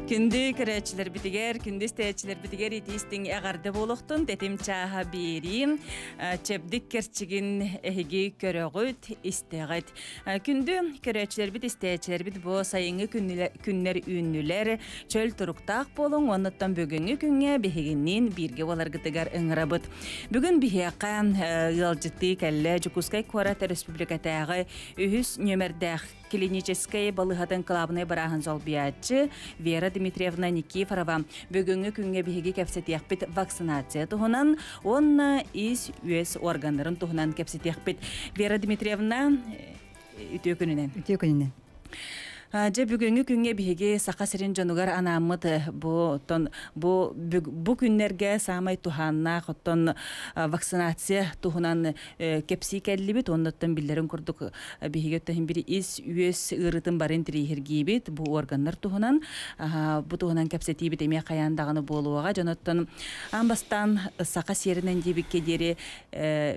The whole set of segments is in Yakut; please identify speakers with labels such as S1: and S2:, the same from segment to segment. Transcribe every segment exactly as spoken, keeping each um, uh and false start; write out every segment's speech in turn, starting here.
S1: Күндү көрөөччүлэрбитигэр, күндү истээччилэрбитигэр итии-истиҥ эҕэрдэ буолуохтун, тэтим чааһа биэрии, чэбдик кэрчигин эһиги көрөҕүт, истэҕит. Күндү көрөөччүлэрбит, истээччилэрбит бу сайыҥҥы күннэр үүннүлэр, чөл туруктаах буолуҥ, оннуттан бүгүҥҥү күҥҥэ биһигинниин бииргэ буоларгытыгар ыҥырабыт. Бүгүн биһиэхэ ыалдьыттыы кэллэ Дьокуускай куорат республикатааҕы үһүс нүөмэрдээх клиническэй балыыһатын кылаабынай бырааһын солбуйааччы Вера Дмитриевна Никифорова. Бүгүҥҥү күҥҥэ биһиги кэпсэтиэхпит вакцинация туһунан уонна ис-үөс органнарын туһунан кэпсэтиэхпит. Вера Дмитриевна, үтүө күнүнэн.
S2: Үтүө күнүнэн.
S1: Дьэ бүгүҥҥү күҥҥэ биһиги Саха сирин дьонугар анааммыт бу оттон бу бу күннэргэ саамай туһааннаах оттон вакцинация туһунан кэпсии кэллибит. Оннуттан биллэрин курдук биһиги оттон биир ис үөс ыарыытын барын интэриэһиргиибит бу органнар туһунан бу туһунан кэпсэтиибит эмиэ хайаан даҕаны буолуоҕа. Дьоноттон аан бастаан саха сиэринэн диэбиккэ диэри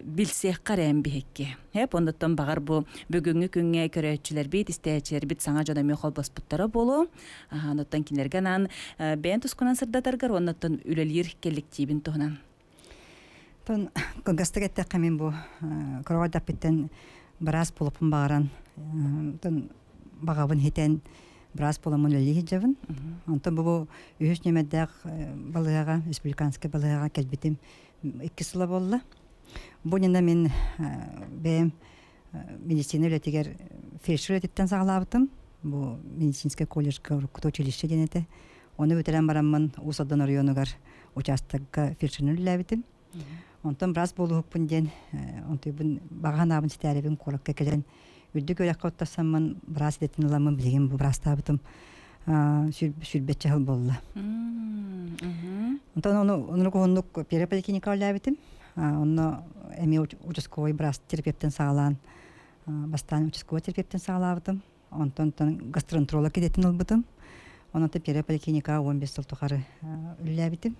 S1: билсиэххэ эрэ биһикки. Эп оннуттан баҕар бу бүгүҥҥү күҥҥэ көрөөччүлэрбит, истээччилэрбит саҥа дьон эмиэ холбоспуттара буолуо. Оннуттан кинилэргэ анаан бэйэн тускунан сырдатаргар оннуттан үлэлиир коллективин туһунан.
S2: Тон кылгастык эттэххэ мин бу кыра быраас буолуохпун баҕаран, тон баҕабын хитэн быраас буоламмын үлэлии сылдьабын. Онтон бу үһүс нүөмэрдээх балыыһаҕа, республиканскай балыыһаҕа кэлбитим икки сыла буолла. Бу иннинэ мин бэйэм медицина үлэтигэр фельдшер үлэтиттэн саҕалаабытым. Бу медицинскэй колледжка уруккута училище диэн этэ. Ону бүтэрэн бараммын Уус Алдан оройуонугар учаастакка фельдшеринэн үлэлээбитим. Онтон быраас буолуохпун диэн, онтуйбун баҕа санаабын ситээрибин куоракка кэлэн үрдүк үөрэххэ оттосоммун быраас идэтин ыламмын билигин бу быраастаабытым сүүрбэччэ сыл буолла. Онтон ону оннук уһуннук первая поликлиника үлэлээбитим. Онно эмиэ участковый быраас терапевтэн саҕалаан, бастаан участковый терапевтэн саҕалаабытым. Онтон гастроэнтеролог идэтин ылбытым. Онон первая поликлиника он бес сыл тухары үлэлээбитим.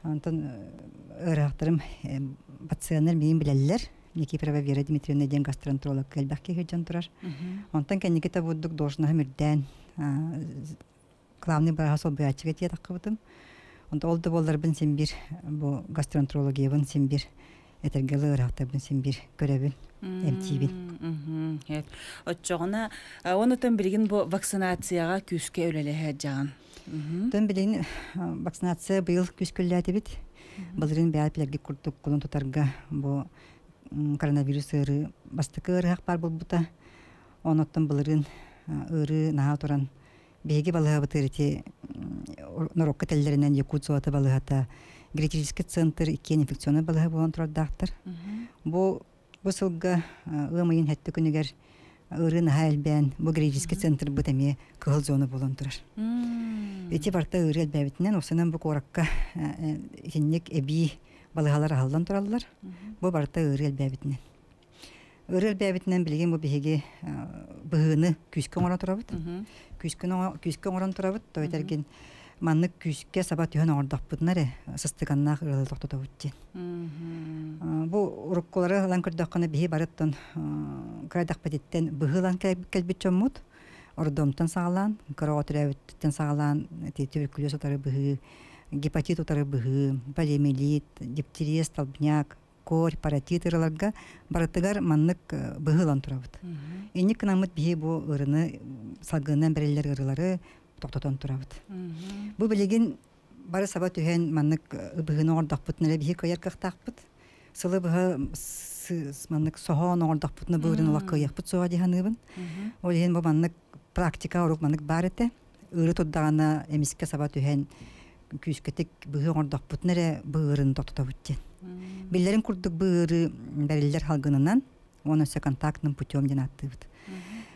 S2: Онтон ыарыһахтарым пациеннар миигин билэллэр. Никифорова Вера Дмитриевна диэн гастроэнтеролог элбэх киһи дьон турар. Онтон кэнники бурдук должноһым үрдээн главный бырааһа солбуйааччыга тиийэ таххыбытым. Онтон ол да буолларбын син биир бу гастроэнтерологиябын син биир этэргэ ыарыһахтарбын син биир көрөбүн, эмтиибин.
S1: Оччоҕуна онутан билигин бу вакцинацияҕа күүскэ үлэлэһэ дьаҕан.
S2: Тон билигин вакцинация быйыл күүскэ үлэлээтибит. Былырыын бэйэт билэргит курдук кулун тутарга бу коронавирус ыарыы бастакы ыарыһах баар буолбута. Онуттан былырыын ыарыы наһаа туран биһиги балыыһабытыгар ити норуокка этэллэринэн Якут золото балыыһата, гериатрический центр иккиэн инфекционнай балыыһа буолан турардаахтар. Бу бу сылга ыам ыйын сэттэ күнүгэр ыарыы наһаа элбээн бу гериатрический центр быт эмиэ кыһыл зона буолан турар. Ити барта ыарыы элбээбитинэн осунан бу куоракка итинник эбии балыыһалар аһыллан тураллар. Бу барта ыарыы элбээбитинэн. Ыарыы элбээбитинэн билигин бу биһиги быһыыны күүскэ оҥорон турабыт. Күүскэ оҥорон турабыт, то этэргин маннык күүскэ саба түһэн оҥордохпутуна эрэ сыстыганнаах ыарыы тохтотобут диэн. Бу уруккулары ылан көрдөххүнэ биһи барыттан кырайдахпытыттан быһыылан кэлбит дьоммут. Ордомтон саҕалаан, кыра оҕо төрөөбүттэн саҕалаан туберкулез утары быһыы, гепатит утары быһыы, полиомиелит, дифтерия, столбняк, корь, паротит ыарыыларга барытыгар маннык быһыылан турабыт. Инник гынаммыт биһи бу ыарыыны салгынынан бэриллэр ыарыылары тохтотон турабыт. Бу билигин бары саба түһэн маннык быһыыны оҥордохпутуна эрэ биһи кыайар кыахтаахпыт. Сылы быһа маннык соһоон оҥордохпутуна бу ыарыыны олох кыайыахпыт суоҕа дии саныыбын. Ол иһин бу маннык практика урук маннык баар этэ. Ыарыы турдаҕына эмискэ саба түһэн күүскэтик быһыы оҥордохпутуна эрэ бу ыарыыны тохтотобут диэн. Биллэрин курдук бу ыарыы бэриллэр салгынынан, уонна өссө контактным путем диэн ааттыыбыт.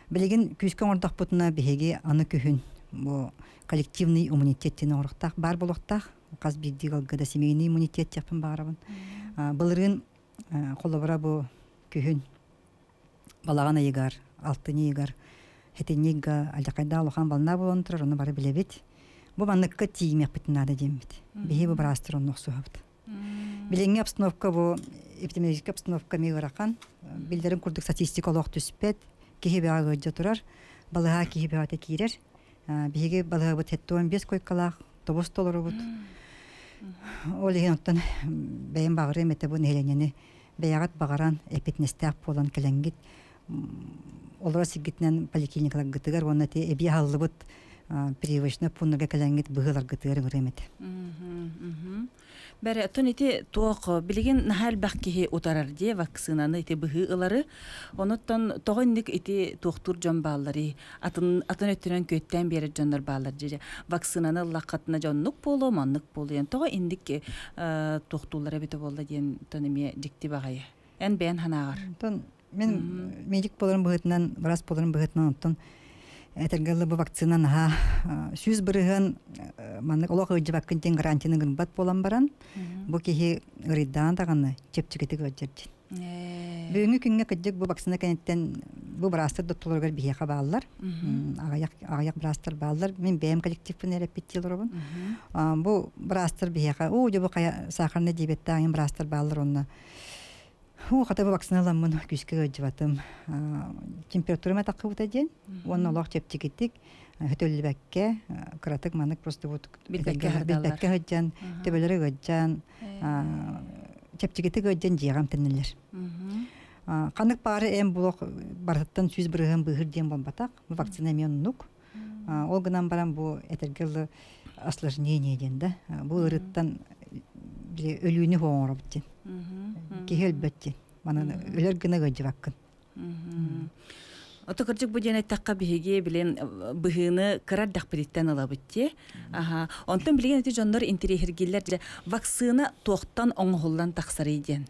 S2: Билигин күүскэ оҥордохпутуна биһиги аны күһүн бу коллективный иммунитет диэн оҥоруохтаах баар буолуохтаах. Хас биирдии ыалга да семейный иммунитет диэхпин баҕарабын. Былырыын холобура бу күһүн балаҕан ыйыгар, алтынньы ыйыгар сэтинньи ыйга алдьархайдаах улахан волна буолан турар, ону бары билэбит. Бу манныкка тиийимиэхпитин наада диэммит. Биһи бу быраастар онно охсуһабыт. Билиҥҥи обстановка бу эпидемиологическай обстановка эмиэ ыарахан. Биллэрин курдук статистика олох түспэт. Киһи бөҕө ыалдьа турар. Балыһа киһи бөҕөтө киирэр. Биһиги балыһабыт хеттуан бес койкалаах тобус толорубут. Ол иһин оттон бэйэм баҕарыам этэ бу нэһилиэнньэни бэйэҕит баҕаран эппиэтинэстээх буолан кэлэҥҥит олоро сиргитинэн поликлиникаларгытыгар уонна ти эбии аһыллыбыт прививочнай пууннарга кэлэҥҥит быһыыларгытыгар ыҥырыам этэ.
S1: Бэрэ, оттон ити туох билигин наһаа элбэх киһи утарар дии вакцинаны ити быһыы ылары. Онуттан тоҕо инник ити туохтуур дьон баалларый? Атын атын өттүнэн күөттээн биэрэр дьоннор бааллар дии. Вакцинаны ыллаххытына дьоннук буолуо, маннык буолуо. Тоҕо инник туохтууллар эбитэ буолла диэн тон эмиэ дьикти баҕайы. Эн бэйэн санааҕар.
S2: Онтон мен медик буоларым быһыытынан, быраас буоларым быһыытынан онтон этэргэ дылы бу вакцина наһаа сүүс бырыһыан маннык олох ыалдьыбаккын диэн гарантияны гынбат буолан баран, бу киһи ырыйдаан даҕаны чэпчэкитик ыалдьар диэн. Бүгүҥҥү күҥҥэ кырдьык бу вакцина кэнниттэн бу быраастар доттолоругар биһиэхэ бааллар. Аҕыйах аҕыйах быраастар бааллар. Мин бэйэм коллективпын эрэппиттии олоробун. Бу быраастар биһиэхэ, оо, дьэ бу хайа сахарный диабеттаах быраастар бааллар онно. Уу, хата бу вакциналаммын күүскэ ыалдьыбатым. Температурам атаххыбыта диэн. Уонна олох чэпчэкитик, хөтөллүбэккэ, кыратык маннык просто вот
S1: Билбэккэ сылдьаллар.
S2: билбэккэ сылдьан, төбөлөрө ыалдьан, чэпчэкитик ыалдьан дьиэҕэ эмтэнэллэр. Ханнык баары эм булох барытыттан сүүс бырыһыан быыһыр диэн буолбатах. Бу вакцина эмиэ оннук. Ол гынан баран бу этэргэ дылы осложнение диэн да. Бу ыарыттан өлүүнү оҥоробут диэн. Киһи өлбөт диэн. Манан өлөр гына ыалдьыбаккын.
S1: Ото кырдьык бу диэн эттэххэ биһиги билин быһыыны кыра эрдэхпититтэн ылабыт дии. Аха. Онтон билигин ити дьоннор интэриэһиргииллэр дьэ вакцина туохтан оҥоһуллан тахсарый диэн.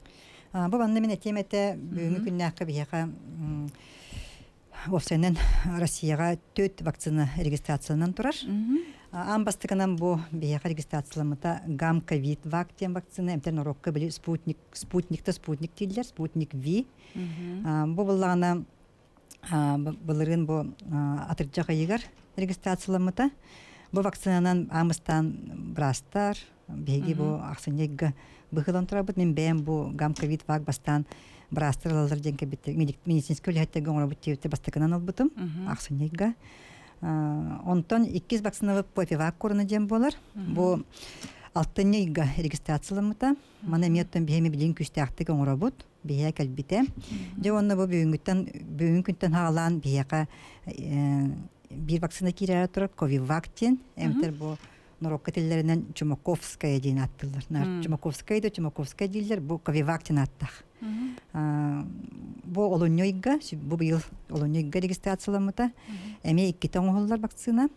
S2: Бу манна мин этиэм этэ бүгүҥҥү күннээххэ биһиэхэ уопсайынан Россияҕа төрт вакцина регистрацияланан турар. Аан бастакынан бу биһиэхэ регистрацияламмыта Гам ковид вак диэн вакцина эмтэн норуокка били спутник спутник-та спутник дииллэр, спутник Ви. Бу буллаҕына былырыын бу атырдьах ыйыгар регистрацияламмыта. Бу вакцинанан аамыстаан быраастар, биһиги бу ахсынньыга быһыылан турабыт. Мин бэйэм бу Гам ковид вак бастаан быраастар ылаллар диэн кэлбиттэр. Медицинскэй үлэһиттэргэ оҥоробут диэбиттэр бастакынан ылбытым ахсынньыга. Онтон иккис вакцинабыт Эпивак корона диэн буолар. Бу алтынньы ыйга регистрацияламмыта. Маны эмиэ оттон биһиэми билигин күүстээхтик оҥоробут. Биһиэ кэлбитэ. Дьэ уонна бу бүгүҥҥүттэн бүгүҥҥү күнтэн хаалаан биһиэхэ биир вакцина киирээри турар Ковивак диэн. Эмтэр бу норуокка тиллэринэн Чумаковская диэн ааттыыллар. Чумаковская да Чумаковская дииллэр, бу Ковивак диэн ааттаах. Бу олунньу ыйга, бу быйыл олунньу ыйга регистрацияламмыта. Эмиэ иккитэ оҥоһуллар вакцина.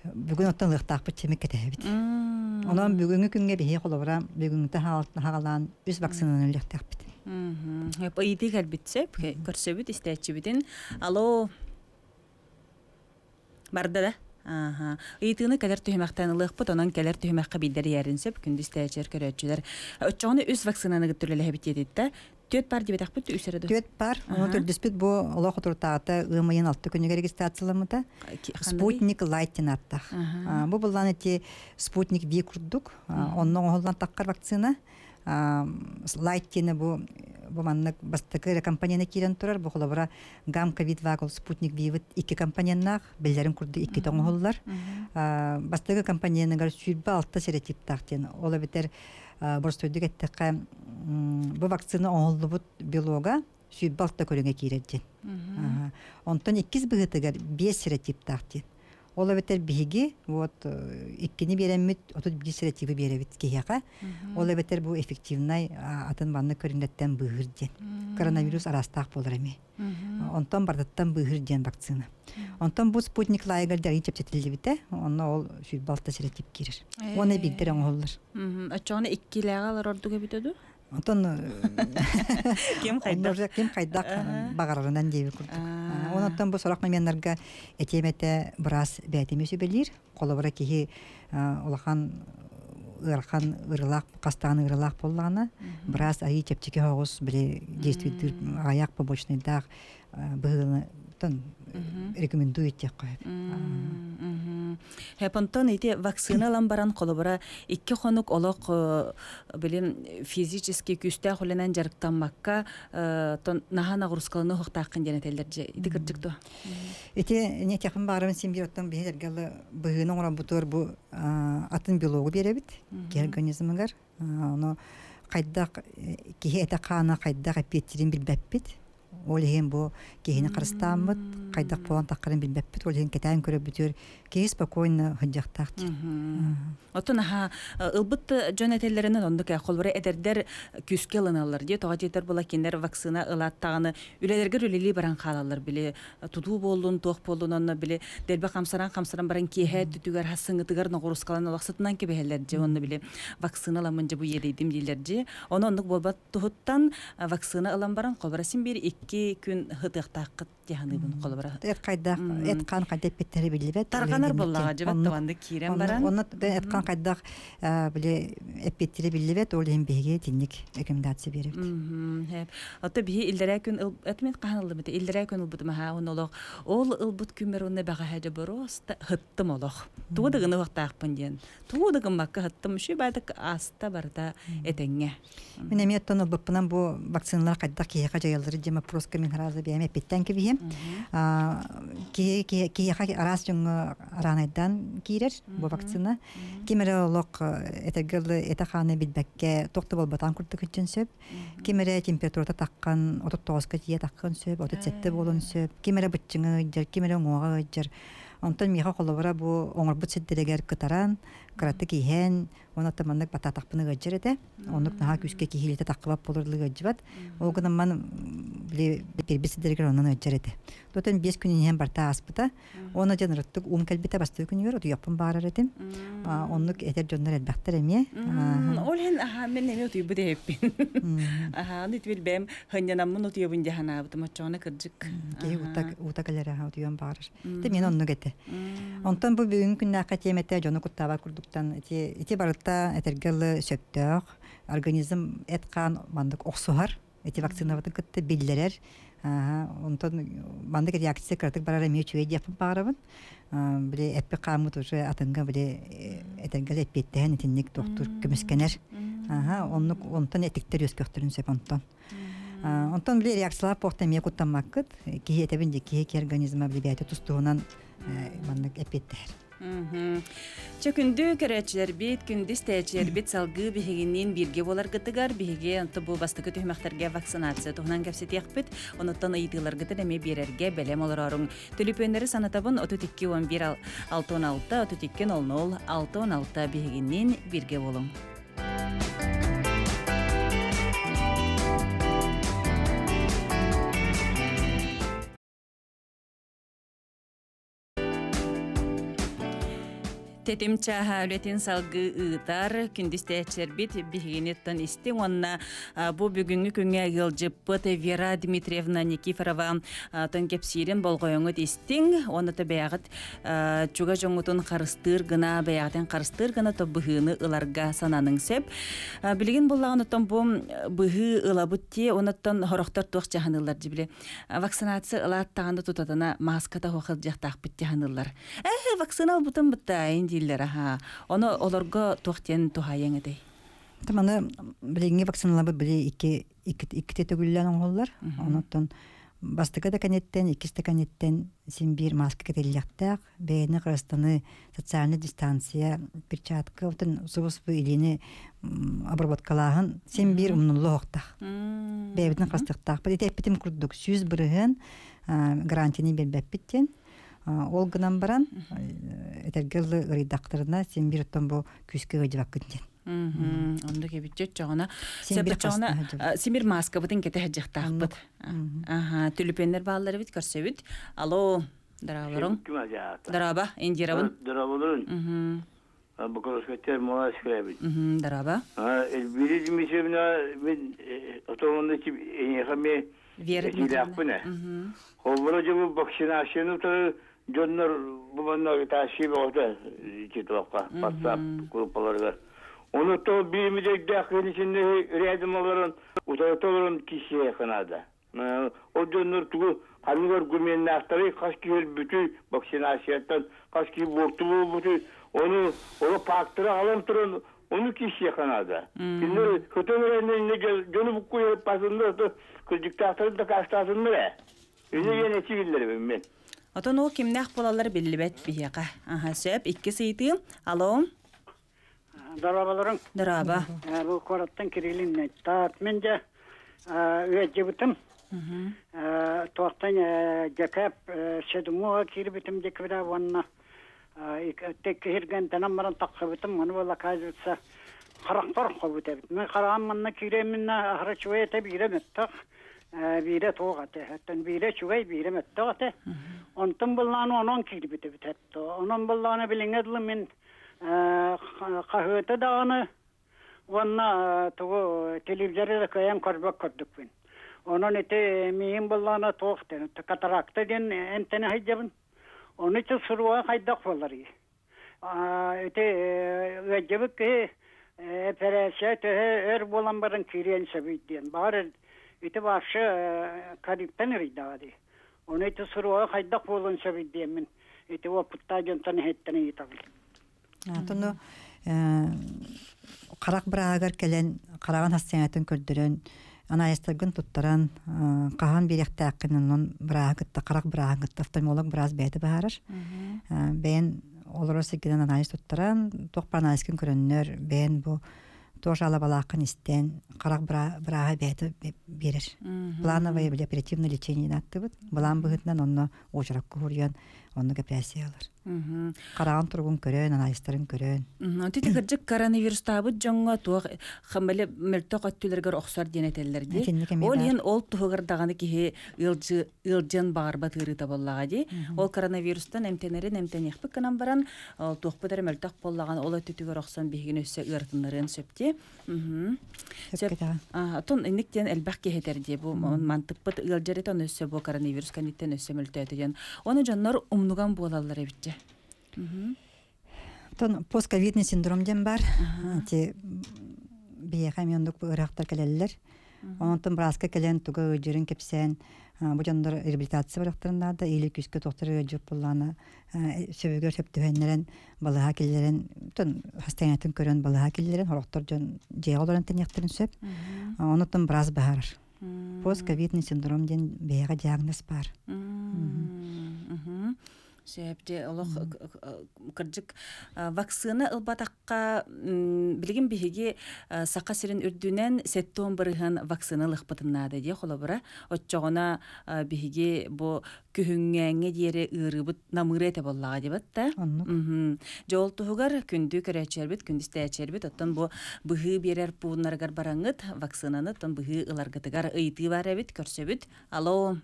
S2: Бүгүн оттон ылыахтаахпыт чэмик кэтэһэбит. Онон бүгүҥҥү күҥҥэ биһиги холобура бүгүҥҥүтэ хаалаан үс вакцинаны ылыахтаахпыт.
S1: Ыйытыы кэлбит сөп, көрсөбүт, истээччибитин. Алло. Барда да? Аха. Ыйытыыны кэлэр түһүмэхтэн ылыахпыт, онон кэлэр түһүмэххэ биирдэр иһэрин сөп, күндү истээччилэр, көрөөччүлэр. Оччоҕуна үс вакцинаны кытта үлэлэһэбит диэтитте. Түөрт пар диэбэтэхпит үс эрэ
S2: Түөрт пар, оны төрдүспүт бу олох отуртаата ыам ыйын алты күнүгэр регистрацияламмыта. Спутник Лайт диэн ааттаах. Бу буллан эти Спутник Ви курдук, онно оҥоһуллан таххар вакцина. Лайт диэни бу бу маннык бастакы компанияны киирэн турар, бу холобура Гам ковид вак Спутник Вивит икки компоненнаах, биллэрин курдук икки оҥоһуллар. Бастакы компоненыгар сүүрбэ алта серотиптаах диэн. Ол эбэтэр боростуойдук эттэххэ бу вакцина оҥоһуллубут белога сүүрбэ алта көрүҥэ киирэр диэн. Онтон иккис быһыытыгар биэс серотиптаах диэн. Ол эбэтэр биһиги вот иккини биэрэммит отут биир серотибы биэрэбит киһиэхэ. Ол эбэтэр бу эффективнай атын маннык көрүҥнэртэн быыһыр диэн. Коронавирус араастаах буолар эмиэ. Онтон бардаттан быыһыр диэн вакцина. Онтон бу Спутник Лайгар дьарыйын чэпчэтиллибитэ, онно ол сүүрбэ алта серотип киирэр. Уонна биирдэр оҥоһуллар.
S1: Оччоҕуна иккилээҕэ олорор ордук эбитэ дуу?
S2: Онтон
S1: Ким хайдах
S2: ким хайдах баҕарарынан диэби курдук. Онтон бу сорох моменнарга этиэмэтэ быраас бээтими сүбэлиир. Холобура киһи улахан ыарахан ыарыылаах хастаан ыарыылаах буоллаҕына, быраас айыы чэпчэки соҕус били действуйдуур аҕыйах побочныйдаах быһыыны тон рекомендую диэххэ.
S1: Хепонтон ити вакцина ылан баран холобура икки хонук олох билин физически күүстээх үлэнэн дьарыктаммакка тон наһаа нагрузкаланы хуохтааххын диэн этэллэр дьэ ити кырдьык дуо?
S2: Ити не тяхын баарыбын син бир оттон биһи быһыыны оҥорон бутуор бу атын белогу биэрэбит киһи организмыгар. Ону хайдах киһи этэ хаана хайдах эппиэттирин билбэппит. Ол иһин бу киһини харыстааммыт, хайдах буолан таххарын билбэппит, ол иһин кэтээн көрөбүтүөр киһи спокойно сылдьыахтаах.
S1: Оттон аха ылбыт дьон этэллэринэн оннук холбура эдэрдэр күүскэ ылыналлар дии тоҕо диэтэр була кинилэр вакцина ылааттаҕыны үлэлэргэр үлэлии баран хаалаллар били тутуу буоллун туох буоллун онно били дэлби хамсаран хамсаран баран киэһэ түтүгэр хассыҥытыгар ноҕурускалан олохсутунан кэбиһэллэр дьэ онно били вакцина ыламмын дьэ бу иэдэйдим дииллэр дии ону оннук буолбат туһуттан вакцина ылан баран холбура син биир икки күн хытыахтааххыт дьаһаныыбын холобура.
S2: Эт хайдах, эт хаан хайдах эппиттэри биллибэт.
S1: Тарҕанар буоллаҕа дьыбат таванды киирэн баран.
S2: Онно эт хаан хайдах били эппиттэри биллибэт, ол иһин биһиги тинник рекомендация биэрэбит.
S1: Ото биһи иллэрээ күн этмин хаһан ылбыт иллэрээ күн ылбытым аха он олох ол ылбыт күммэр онно бэҕэһээ дьэ боруоста хыттым олох. Тугу да гына уохтаахпын диэн. Тугу да гыммакка хыттым үшүй баадык аста барыта этэҥҥэ.
S2: Мин эмиэ оттон ылбыппынан бу вакциналар хайдах киһиэхэ дьайаллары диэн вопроска мин хараза бэйэм эппиттэн кэбиһиэм. Киһиэхэ араас дьоҥҥо араанайдаан киирэр бу вакцина. Ким эрэ олох этэргэ этэ хааны билбэккэ туох да буолбатаан курдук иччин сөп. Ким эрэ температурата таххан отут тоҕуска тиийэ таххан сөп, отут сэттэ буолун сөп. Ким эрэ быччыҥа ыйдьар, ким эрэ уҥуоҕа ыйдьар. Онтон миэхэ холобура бу оҥорбут сирдэригэр кытаран, кыратык иһэн, онон маннык батаатахпын ыгадьар этэ. Оннук наһаа күүскэ киһилите таххыбат болор ыгадьыбат. Ол гынан ман били бирбит сирдэригэр онон ыгадьар этэ. Дотон биэс күн иһэн барта ааспыта. Оны дьон ырыттык ум кэлбитэ бастыы күнүгэр утуйаппын баарар этим. Оннук этер дьоннор элбэхтэр эмиэ.
S1: Ол иһин аха мен эми утуйбут эһэппин. Аха аны итибил бэйэм хынньанаммын утуйабын дьаһанаабытым оччоҕуна кырдьык.
S2: Киһи ута ута кэлэр аха утуйан баарар. Те мен оннук этэ. Онтон бу бүгүн күннээххэ тиэмэтэ дьону куттаабат курдуктан ити ити барыта этэргэлы сөптөөх организм эт хаан мандык охсуһар эти вакцинабытын кытта биллэрэр. Онтон мандык реакция кыратык барар эмиэ үчүгэй диэхпин баарабын. Били эппи хааммыт уже атынга били этэргэл эппиэттэһэн итинник тохтур көмүскэнэр. Аха оннук онтон этиктер өскөхтөрүн сөп онтон. Онтон били реакциялар похта эмиэ куттаммаккыт. Киһи этэбин де киһи ки организма били бэйэтэ тустуһунан маннык эппиэттэһэр.
S1: Чэ күндү көрөөччүлэрбит, күндү истээччилэрбит салгыы биһигинниин бииргэ буоларгытыгар биһиги онто бу бастакы түһүмэхтэргэ вакцинация туһунан кэпсэтиэхпит, онуттан ыйытыыларгытын эмиэ биэрэргэ бэлэм олороруҥ. Төлөпүөннэри санатабын отут икки он биир алта он алта, отут икки ноль ноль алта он алта биһигинниин бииргэ буолуҥ. Тетим чаха үлетин салгы ыытар, күндүс тээччилэрбит биһигиниттэн истиҥ уонна бу бүгүҥҥү күҥҥэ ыалдьыппыт Вера Дмитриевна Никифорова тон кэпсиирин болҕойоҥут истиҥ, уонна то бэйэҕит чуга дьоҥҥутун харыстыыр гына, бэйэҕитин харыстыыр гына то быһыыны ыларга сананыҥ сөп. Билигин буллаҕын оттон бу быһыы ылабыт тиэ, онуттан хорохтор туох дьаһаныллар дьибили. Вакцинация ылааттаҕына тутатына маската хуохылдьыахтаахпыт дьаһаныллар. Э, вакцина ылбытым бытта, дииллэр аха. Ону олорго туох диэн туһаайаҥ этэй?
S2: Таманы билиҥҥи вакциналабыт били икки икките төгүллээн оҥоһуллар. Онуттан бастакы да кэнниттэн, иккис да кэнниттэн син биир маска кэтиллиэхтээх, бэйэни кырастаны социальная дистанция, перчатка, отон субус-бу илиини обработкалааһын син биир умнуллу оһохтаах. Бэйэбитин кырастыктаах. Ити эппитим курдук сүүс бырыһыан гарантияны биэрбэппит диэн. Ол гынан баран, этэргэ ырыйдахтарына син бир оттон бу күүскэ ыдьыбаккын диэн.
S1: Оннук эбит чоҕуна. Сибир симир маскабытын кэтэ сылдьыахтаахпыт. Аха, түлүпүөннэр бааллар эбит, көрсөбүт. Алло, дараабаларың. Дарааба, Индирабын.
S3: Дараабаларың. Бакалавскаттер маласкабит.
S1: Дарааба.
S3: Элбири Дмитриевна мен отомонда тип энехаме
S1: Вера Дмитриевна.
S3: Холбора жабы вакцинацияны то дьоннор бу манна тааши боҕото титуаққа WhatsApp группаларга. Оны то биимидегдэх кенисинне рядом олорон утарата олорон кишие ханада. Ол дьоннор тугу Ханнык аргуменнаахтары хас киһи өлбүтүй вакцинацияттан, хас киһи буорту буолбутуй, ону ону факторы алан туран ону киһиэхэ наада. Кинилэр хытын эрэнне дьону буккуйа пасыннар, кырдьыктаахтарын дакаастаатыннар ээ. Ини диэн этии биллэрибин мен.
S1: Отон ол кимнээх буолаллар биллибэт биһиэхэ. Аха, сөп, икки сыйтыы. Алло.
S4: Дорооболоруҥ.
S1: Дорообо.
S4: Бу куораттан Кириллин таат мен дьэ үөддьибитим. Туохтан дьэкэп седумуга киирбитим декабря уонна теккиһиргэн тэнэн баран тахсыбытым. Аны буолла, оказывается, харахпар хобут эбит. Мен хараҕым манна кииреминна ахара чугай этэ, биирэ мөттөх, биирэ туох этэ. Оттон биирэ чугай, биирэ мөттөх этэ. Онтон буллааны онон киирбит эбит этто. Онон буллааны билиҥҥэ дылы мин хаһыаты даҕаны уонна тугу телевизоры да кыайан көрбөт көрдүкпүн. Онон ити миин буллаана туох ден катаракта диэн эмтэнэ сылдьабын. Ону ити суруга хайдах буолар? Ити ыалдьыбыт киһи эпэрээссийэ төһө өр буолан баран киириэн сөбүй диэн. Баҕар ити вообще ковидтан ыйдаҕа дии. Ону ити суруга хайдах буолуон сөбүй диэммин ити уопуттаа дьонтон иһиттэн ыйытабын.
S2: Тону харах быраагар кэлэн хараҕын хассыҥатын көрдөрөн, анаайыстаргын туттаран, хаһан бириэхтээххин онон бырааһы кытта, харах бырааһын кытта офтальмолог быраас бэйэтэ баһаарар. Бэйэн олорор сиргинэн анаайыс туттаран, туох анаайыскын көрөннөр, бэйэн бу туох жалобалааххын истэн, харах бырааһы бэйэтэ биэрэр. Плановое или оперативное лечение аттыбыт. Былаан быһытынан онно уочаракка хуруйан, онно эпэрээссийэ ылар. Хараҕын туругун көрөн, анаайыстарын көрөн.
S1: Тити кырдьык коронавирустаабыт дьоҥҥо туох хамбали мөлтөх өттүлэргэр охсор диэн этэллэр ди. Ол иһин ол туһугар даҕаны киһи ыалдьыан баҕарбат ыарыыта буоллаҕа ди. Ол коронавирустан эмтэнэрин эмтэниэхпит гынан баран, ол туохпут эрэ мөлтөх буоллаҕын ол өттүтүгэр охсон биһигин өссө ыаратыннарыан сөп ди. Отон инник диэн элбэх киһи этэр ди, бу мантыппыт ыалдьар этэн өссө бу коронавирус кэнниттэн өссө мөлтөөтө диэн. Оны дьоннор умнуган буолаллар эбитче.
S2: Тон постковидный синдром диэн бар. Ти биэхэ миондук ыраахтар кэлэллэр. Онтон бырааска кэлэн туга ыдьырын кэпсээн, бу дьоннор реабилитация барахтарыннаада, или күскэ тохтор ыдьып буллаана сөбүгэр сөптүһэннэрэн балыһа киллерен, тон хастаянатын көрөн балыһа киллерен, хорохтор дьон дьиэҕэ олорон тэньэхтэрин сөп. Онотон быраас баһарар. Постковидный синдром диэн биэхэ диагноз бар.
S1: Сөп де олох кырдьык вакцина ылбатакка билигин биһиги саха сирин үрдүнэн сеттон бырыһын вакцина ылыхпытыннаада дии холобура отчоҕуна биһиги бу күһүҥҥээҥҥэ диэри ыарыыбыт намыыра этэ буоллаҕа дибат та. Дьол туһугар күндү көрөөччүлэрбит, күндүстээччилэрбит, оттон бу быһыы биэрэр пууннарыгар бараҥҥыт вакцинаны оттон быһыы ыларгытыгар ыйытыы бар эбит, көрсөбүт. Алло.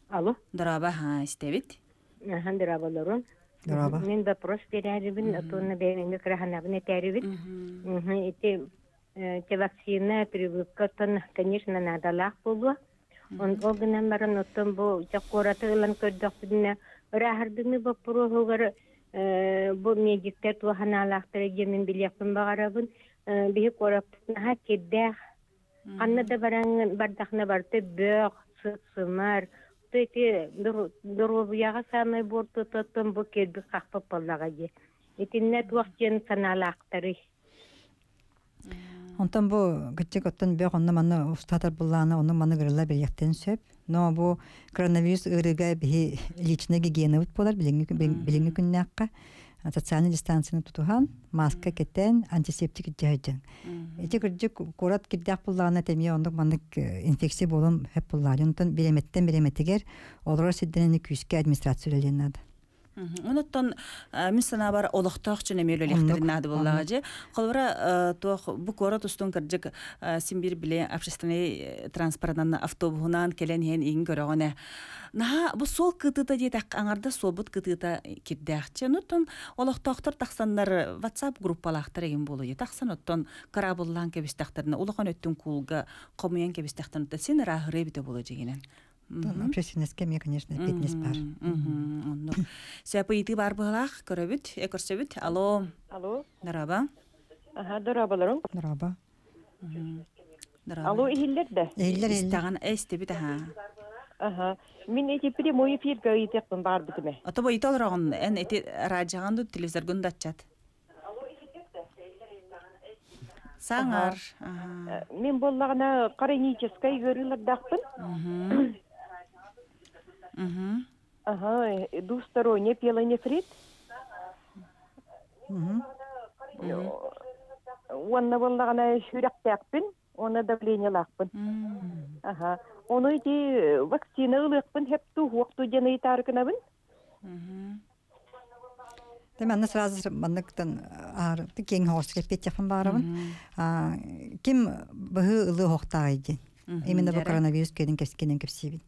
S5: Алло.
S1: Дорообо, ха, истэбит.
S5: Ахан дорооболорун.
S2: Дорообо.
S5: Мин вопрос берәрибин, отуонна бэйэм краханабын этәрибин. Ити те вакцина, прививка, оттон, конечно, надалаах буолуо. Он ол гынан баран оттон бу чаккураты ылан көрдөхпүнэ ырааһырдыны боппуруоһугар бу медиктер туоханаалаахтара диэмин билиэхпин баҕарабын. Биһи куораппытнаха кирдээх. Ханна да бараҥ бардахна барты бөөх, сыт-сымар. Ити доруобуйаҕа саамай буортутуттан бу кирби хахпап буоллаҕа дии. Итиннэ туох диэн санаалаахтарый?
S2: Онтон бу кытчык оттон бөх онно манна устатар буллаана онно манна гырылла бериэхтэн сөп. Но бу коронавирус ыарыыга биһи личный гигиенабыт буолар билиҥҥи билиҥҥи күннээххэ социальный дистанцияны тутуһан, маска кэтэн, антисептик дьаһайдьан. Ити кырдьык куорат кирдээх буллаана темие оннук маннык инфекция буолун хөп буллаары. Онтон биреметтен биреметигер олорор сирденени күүскэ администрация үлэлиэн наада.
S1: Онуттан мин санаабар олохтоох чүн эмиэ үлэлиэхтэрин наада буоллаҕа дьэ. Холобура туох бу куорат устун кырдьык син бир биле общественный транспортынан автобуһунан кэлэн иһэн иҥ көрөҕүнэ. Наһаа бу суол кытыыта диэтэххэ аҥарда суолбут кытыыта кирдээхчи. Онуттан олохтоохтор тахсаннар WhatsApp группалаахтар эгин буолуо. Тахсан оттон кыраабыллаан кэбистэхтэринэ улахан өттүн куулга хомуйан кэбистэхтэринэ син ырааһырыы битэ буолуо дьигинэн.
S2: Общественностьке мне, конечно, фитнес бар.
S1: Оннук. Сөп ыйытыы бар быһылаах көрөбүт, э көрсөбүт. Алло.
S6: Алло.
S1: Дорообо.
S6: Аха, дорооболорун.
S2: Дорообо.
S1: Дорообо.
S6: Алло, иһиллэр да?
S2: Иһиллэр, иһиллэр.
S1: Истэҕин эстибит аха.
S6: Ага. Мин эти прямой эфирге ыйтыахпын баҕарбытым.
S1: Ото бу итол рогон эн эти радиоҕын ду телевизоргун датчат. Саҥар.
S6: Ага. Мин буоллаҕына хроническай ыарыылардаахпын.
S1: Мгм.
S6: Ага, двусторонний пиелонефрит. Уонна буоллаҕына сүрэхтээхпин, уонна давлениелаахпын. Ага. Ону ити вакцина ылыахпын хепту хуохту диэн ыйытаарыкынабын.
S2: Тэ манна сразу манныктан аар кең хоос кеппетяхын баарабын. Ким быһы ылы хохтаагай диэн. Именно бу коронавирус кедин кескенен кепсибин.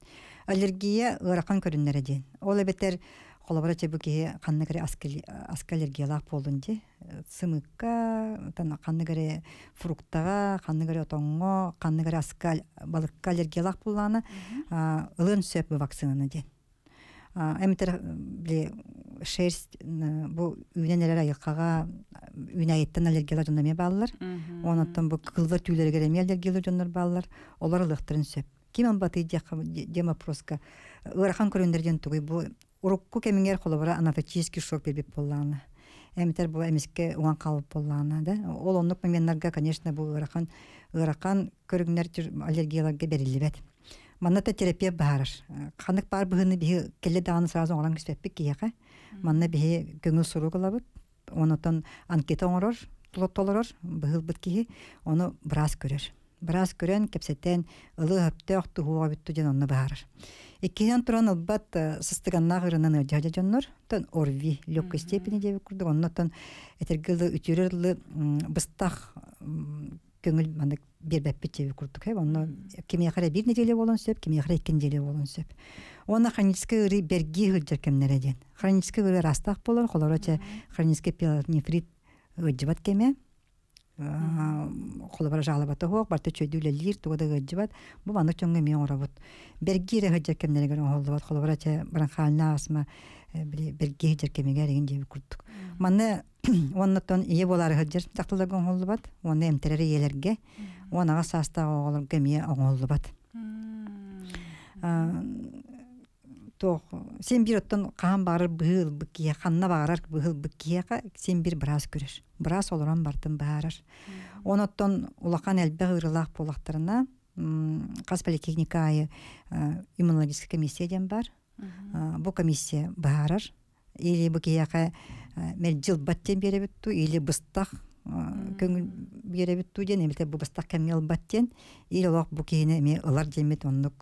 S2: Аллергия ыарахан көрүннэрэ диэн. Ол эбэтэр холобура чэ бу киһи ханнык эрэ аска аллергиялаах буоллун дии. Сымыкка, тан ханнык эрэ фруктаҕа, ханнык эрэ отоҥҥо, ханнык эрэ аска балыкка аллергиялаах буоллаҕына ылыан сөп бу вакцинаны диэн. Эмитер били шерсть бу үүнэн эрэр айылҕаҕа үүнээйиттэн аллергиялар дьоннор эмиэ бааллар. Онон бу кыллар түүлэригэр эмиэ аллергиялар дьоннор бааллар. Олор ылыахтарын сөп. Ким амбаты диэн вопроска ыарахан көрүннэр диэн тугуй бу урукку кэмиҥэр холобура анафилактический шок бербит буоллаҕына. Эмитер бу эмиске уҥан хаалбыт буоллаҕына да. Ол оннук моменнарга, конечно, бу ыарахан ыарахан көрүҥнэр аллергияларга бериллибэт. Манна та терапия баарар. Ханнык баар быһыны биһи келле даҕаны сразу оҥорон киспэппит киһиэхэ. Манна биһи көҥүл сурук ылабыт. Онотон анкета оҥорор, толорор, быһылбыт киһи, ону быраас көрөр. Быраас көрөн, кэпсэтэн, ылы хөптөөх туһуоҕа бүттү диэн онно баарар. Иккиһинэн туран ылбат сыстыганнаах ырынан ыалдьа дьоннор, тон ОРВИ, легкой степени диэбит курдук, оннотон этэргэ ылы үтүрэр ылы быстах көҥүл маннык биэрбэппит диэбит курдук. Онно кимиэхэ эрэ биир неделя буолуон сөп, кимиэхэ эрэ икки неделя буолуон сөп. Уонна хроническай ыарыы бэргии сылдьар кэмнэрэ диэн. Хроническай ыарыы араастаах буолар, холоро чэ хроническай пиелонефрит ыалдьыбат кэмэ, холобура жалобата суох, барыта үчүгэйдик үлэлиир, туга да ыалдьыбат. Бу маннык дьоҥҥо эмиэ оҥоробут. Бэргии эрэ сылдьар кэмнэригэр оҥоһуллубат. Холобура чэ бронхиальная астма били бэргии сылдьар кэмигэр игин диэбит курдук. Манна уоннаттан ийэ буолаары сылдьар дьахталларга оҥоһуллубат, уонна эмтэрэр ийэлэргэ, уон аҕыс саастаах оҕолорго эмиэ оҥоһуллубат. Туох син биир оттон хаһан баҕарар быһыы ылбыт киһиэхэ, ханна баҕарар быһыы ылбыт киһиэхэ син биир быраас көрөр. Быраас олорон бартын быһаарар. Онон улахан элбэх ыарыылаах буоллахтарына, хас поликлиника аайы иммунологическая комиссия диэн бар. Бу комиссия быһаарар. Или бу киһиэхэ мэлдьи ылбат диэн биэрэбит дуу, или быстах көҥүл биэрэбит дуу диэн, эбэтэр бу быстах кэмҥэ ылбат диэн, или олох бу киһини эмиэ ылар диэммит оннук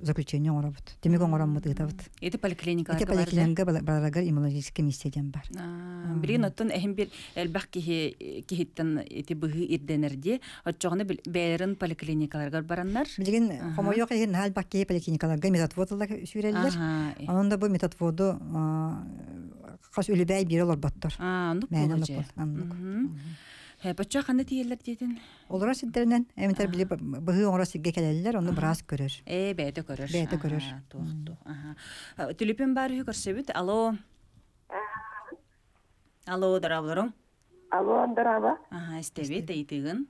S2: заключение оҥоробут. Түмүк оҥороммут ыытабыт.
S1: Ити поликлиникаларга
S2: Ити поликлиникаҕа барарыгар иммунологическая комиссия диэн бар.
S1: Билигин оттон эһим бир элбэх киһи киһиттэн ити быһыы ирдэнэр дии. Оччоҕуна бэйэлэрин поликлиникаларыгар бараннар.
S2: Билигин хомойуох иһин наһаа элбэх киһи поликлиникаларга медотвод ылар сүүрэллэр. Онон да бу медотводу хас үлүбээй биир олорботтор.
S1: Аа, оннук
S2: Мээнэ
S1: буолуо
S2: оннук оннук.
S1: Боччо ханна тиийэллэр диэтин?
S2: Олорор сирдэринэн, эмитэр били быһыы оҥорор сиргэ кэлэллэр, онно быраас көрөр.
S1: Ээ, бэйэтэ көрөр.
S2: Бэйэтэ көрөр.
S1: Туох туох. Аха. Түлүпүн бар үһү көрсөбүт. Алло. Алло, дорооболоруҥ.
S7: Алло, дорообо.
S1: Аха, истэбит, ыйытыгын.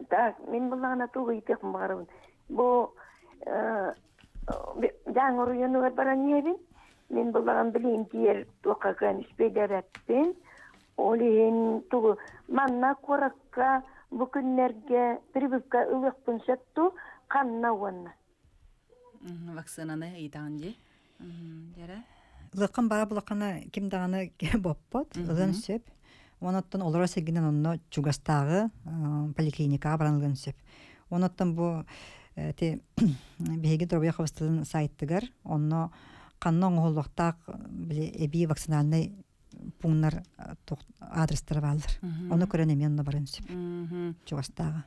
S7: Так, мин буллаҕына тугу ыйытыахпын баҕарабын. Бу Дьааҥы оройуонугар баран иһэбин. Мин буллаҕым билигин тиийэр туохха кыан үспүйдэбэппин. Ол иһин тугу манна куоракка бу күннэргэ прививка ылыахпын сөп дуу, ханна уонна?
S1: Вакцинаны ыйытаҕын дии. Дьэрэ.
S2: Ылыаххын бара булаххана ким даҕаны боппот, ылыан сөп. Онон олорор сиргинэн онно чугастааҕы поликлиникаҕа баран ылыан сөп. Онон бу ти биһиги доруобуйа харыстабылын сайтыгар онно ханна оҥоһуллуохтаах били эбии вакцинальнай пунктар адрестара бааллар. Ону көрөн эмиэ онно баран сөп. Чугастааҕы.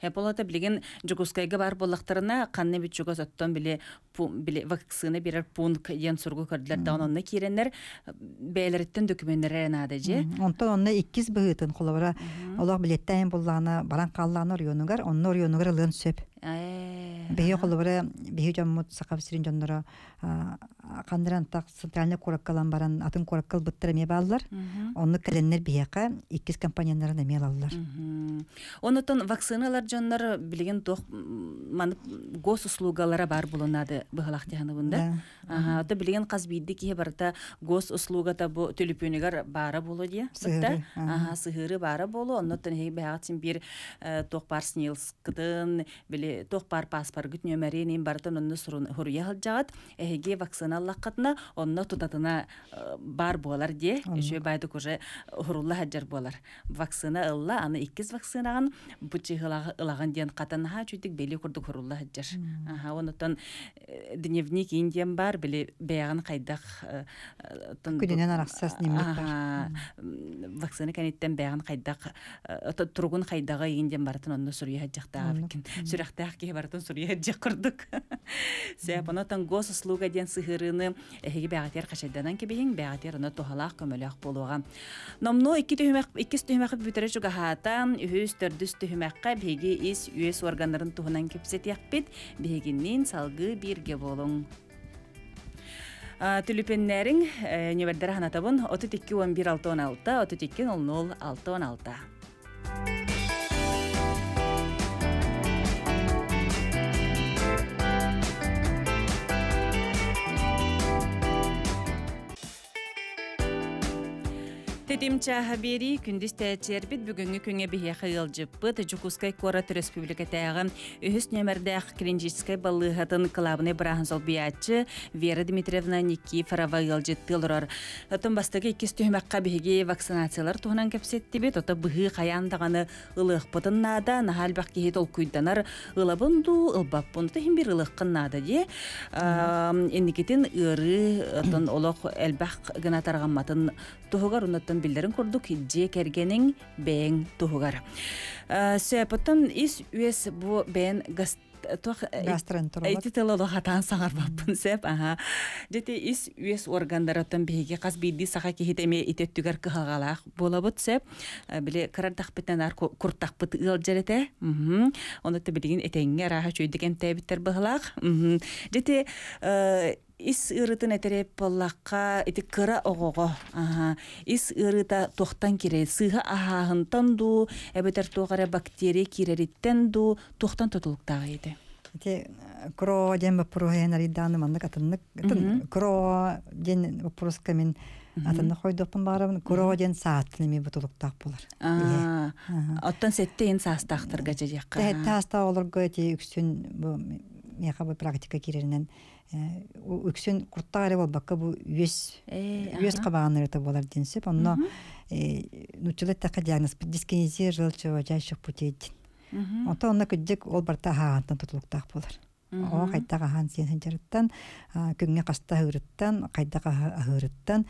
S1: Хеполата билигин Дьокуускайга бар буоллахтарына ханна бит чугас оттон били били вакцина берер пункт диэн суругу көрдүлэр даҕаны онно киирэннэр бэйэлэриттэн докуменнэрэ наада же.
S2: Онтон онно иккис быһыытын холобура олох билеттээйин буллаҕына баран хааллаҕына оройуонугар, онно оройуонугар ылыан сөп. Биһи холобура биһи дьоммут Саха сирин дьонноро ханнаран так центральный куораккалан баран атын куораккал быттар эмиэ бааллар. Онну кэлэннэр биһиэхэ иккис компоненнарын эмиэ алаллар.
S1: Онотон вакциналар дьоннор билигин туох маны госуслугалара бар булунады быһалах тиһаныбында. Аха, ото билигин хас биирди киһи барыта госуслугата бу төлөпүөнүгэр баара болу дия.
S2: Сыһыары,
S1: Аха, сыһыары баара болу. Оннотон эһиги бэҕэт син биир туох бар СНИЛС-кытын, били туох бар паспоргыт нөмерин барытын онно сурун хуруя хылдьаҕат. Эһиги вакцина аллаххатына онно тутатына бар буолар дие. Үшө байдык уже хурулла хаджар буолар. Вакцина ылла, аны иккис вакцинаган бу чыгылагы ылаган диэн катанаха чүтүк бели курдук хурулла хаджар. Аха, онотон дневник индиан бар, били бэйагын хайдах
S2: Күнүнэн арахсас дневник
S1: бар. Вакцина кәниттен бэйагын хайдах туругун хайдага индиан барытын онно суруя хаджахтаах сүрэхтээх киһи барытын суруя хаджах курдук. Сәп онотон госуслуга диэн сыһырыны эһиги бэҕэтиэр хачайданан кэбиһиҥ, бэҕэтиэр оно туһалаах көмөлөөх буолуоҕа. Номно икки түһүмэх иккис түһүмэхи бүтэрэ чугаһаата, үһүс төрдүс түһүмэххэ биһиги ис үөс органнарын туһунан кэпсэтиэхпит, биһигинниин салгыы бииргэ буолуҥ. Түлүпеннәриң нөмердері ханатабын отыз екі он бір алты он алты, отыз екі нөл нөл алты он алты. Тетим чаха бери күндүс тәчербит бүгүнгү күнгө бихе ыалжыппыт Жукускай куорат республикатааҕы үһүс нөмердээх клиническай баллыһатын кылаабынай бырааһын солбуйааччы Вера Дмитриевна Никифорова ыалжыттыы олорор. Отон бастакы иккис түһүмэххэ биһиги вакцинациялар туһунан кэпсэттибит, ото быһыы хайаан даҕаны ылыахпытын наада, наһаа элбэх киһи толкуйданар ылабын дуу, ылбаппын, тиһин бир ылыаххын наада дии. Инникитин ыарыы отон олох элбэх гына тарҕамматын туһугар унаттан биллерин курдук дьиэ кэргэниҥ бэйэҥ туһугар. Сөпөттөн ис үөс бу бэйэн гас туох
S2: Гастроэнтеролог.
S1: Эти тылы хатаан саҥарбаппын сеп, аха. Дьэти ис үөс органдарыттан биһиги хас биирдии саха киһитэ эмиэ итеттүгэр кыһалҕалаах буолабыт сеп. Били кырардахпытынан ар куртахпыт ыалдьар этэ. Онно билигин этэҥҥэ арааһа чүйдүк эмтээбиттэр быһылаах. Дьэти ис ыырытын этереп боллаққа ити кыра оҕоҕо, аха, ис ыырыта туохтан кире сыыһа аһааһынтан дуу, эбэтэр туох эрэ бактерия киирэриттэн дуу, туохтан тутулуктааҕа ити?
S2: Ити кро диэн боппуруоһайан арыйдааны маннык атыннык кро диэн боппуруска мин атыннык хойдуохпун баарабын. Кро диэн сааттын эми бутулуктаах буолар.
S1: Оттон сэтте ин саастаахтарга дьэдьиэххэ.
S2: Тэһэтте саастаах олорго ити үксүн бу миэхэ бу практика киирэринэн үксүн куртаҕа эрэ буолбакка бу үөс үөс хабаанырыта буолар диэн сөп. Онно нууччалыы эттэххэ диагноз дискинезия желчевыводящих путей диэн. Онтон онно кырдьык ол барыта аһаҕантан тутулуктаах буолар. Оҕо хайдах аһаан сиэн сылдьарыттан, күҥҥэ хаста аһыырыттан, хайдах аһыырыттан,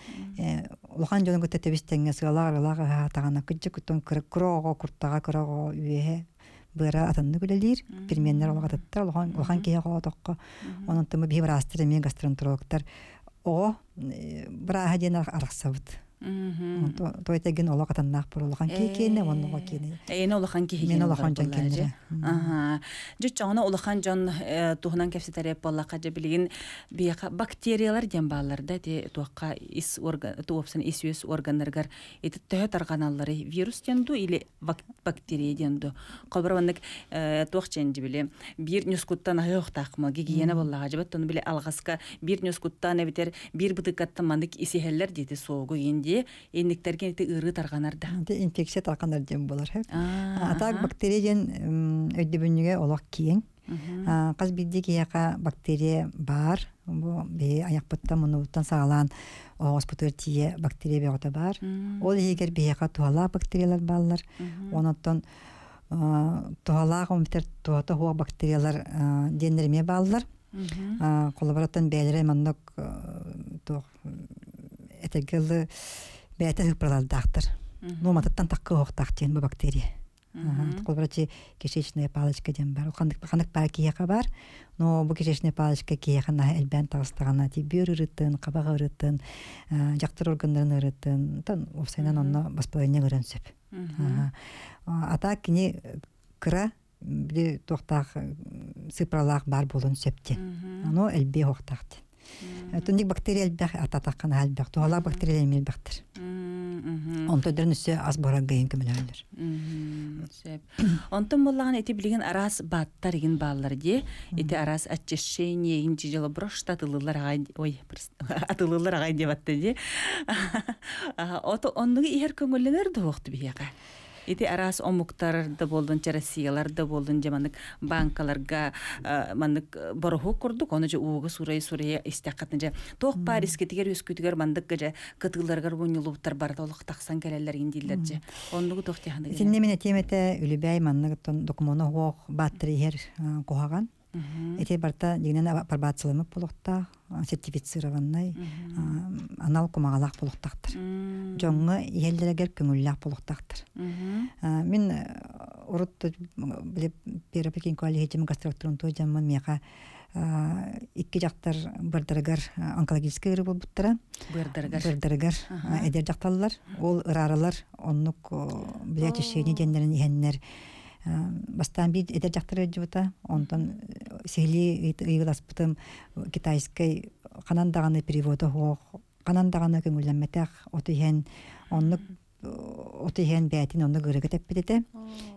S2: улахан дьону кытта тэбис-тэҥҥэ сыалаах-арыылаах аһаатаҕына кырдьык оттон кыра оҕо куртаҕа, кыра оҕо үөһэ быара атыннык үлэлиир, переменнэр олох атыттар, улахан улахан киһи оҕотоххо. Онон тымы биһи быраастар эмиэ гастроэнтерологтар оҕо бырааһа диэн арахсабыт. Тойтеген олох атаннаах бур улахан киһи киэнэ, уонна оҕо киэнэ.
S1: Эйэни улахан киһи
S2: Мен улахан дьон киэннэрэ.
S1: Аха. Дьүччоҕуна улахан дьон туһунан кэпсэтэр буоллахха дьэ билигин биэхэ бактериялар диэн бааллар да ити туохха ис орган туопсан ис үөс органнарыгар ити төһө тарҕаналлары вирус диэн дуу или бактерия диэн дуу. Холбор маннык туох чэнди били биир ньускуттан аһыахтаахма гигиена буоллаҕа дьэбэт тону били алҕаска биир ньускуттан эбитер биир бытыккаттан маннык исиһэллэр диэти суогу инди инниктерген ити ыырыы тарҕанар да.
S2: Ити инфекция тарҕанар диэн буолар. Атак бактерия диэн өйдөбүнньүгэ олох киэҥ. Хас биирдии киһиэхэ бактерия баар. Бу биһи айахпыттан муннубуттан саҕалаан оҕоспутугар тиийэ бактерия бөҕөтө баар. Ол иһигэр биһиэхэ туһалаах бактериялар бааллар. Онон туһалаах омитер туһата хуох бактериялар диэннэр эмиэ бааллар. Холобураттан бэйэлэрэ маннык туох этэргэ бэйэтэ сыппыралардаахтар. Нуоматыттан таккы оһохтаах диэн бу бактерия. Холобурачы кишечная палочка диэн бар. Ханнык ханнык баар киһиэхэ бар. Но бу кишечная палочка киһиэхэ наһаа элбээн таҕыстаҕына ти бүөр ырыттын, хабах ырыттын, дьахтар органнарын ырыттын, тан уопсайынан онно воспаление ыран сөп. Ата кини кыра били туохтаах сыпралаах бар болун сөптен. Ано элбе хоқтақты. Түндик бактерия элбэх ататаққан әлбэх, туһалаах бактерия эмил бактер. Онтон өссө ас баран гайын көмөлөлөр.
S1: Сөп. Онтон боллаган эти билген арас баттар еген баалар де, эти арас очищение еген жижело брошта атылылар агай, ой, атылылар агай деп атты де. Ото оннугу ихер көңүлленер дуокту бияга. Ити арас омуктар да болдун, Россиялар да болдун, же маннык банкаларга маннык бороху курдук, оны же ууга сурай сурая истаккатын же тоқ париске тигер өскүтүгер мандык же кытыыларгар муньулуптар бар толук таксан келелер индилер же. Оннугу тох тиханды.
S2: Синне мен темете үлүбәй маннык тон документу хуох баттыр ихер кухаган. Эти барта дегенен апробацияланып болуқта, сертифицированный, анал кумагалах болуқтақтыр. Жоңғы еллерегер көңүлләк болуқтақтыр. Мин урут билеп перепекин коллегиум гастроэнтеролог жамман меха икки жактар бырдырыгар онкологический ыры болбуттара.
S1: Бырдырыгар.
S2: Бырдырыгар эдер жакталлар, ол ыраралар, оннук биле чешени деннерин ихеннер. Бастан бир эдер жактар жубута, онтон сихли ыйгыласпытым китайской канан даганы переводу хоох, канан даганы көңүлләнмәтәх, отыхен оннук отыхен бәтин онну гырыгы теппитете.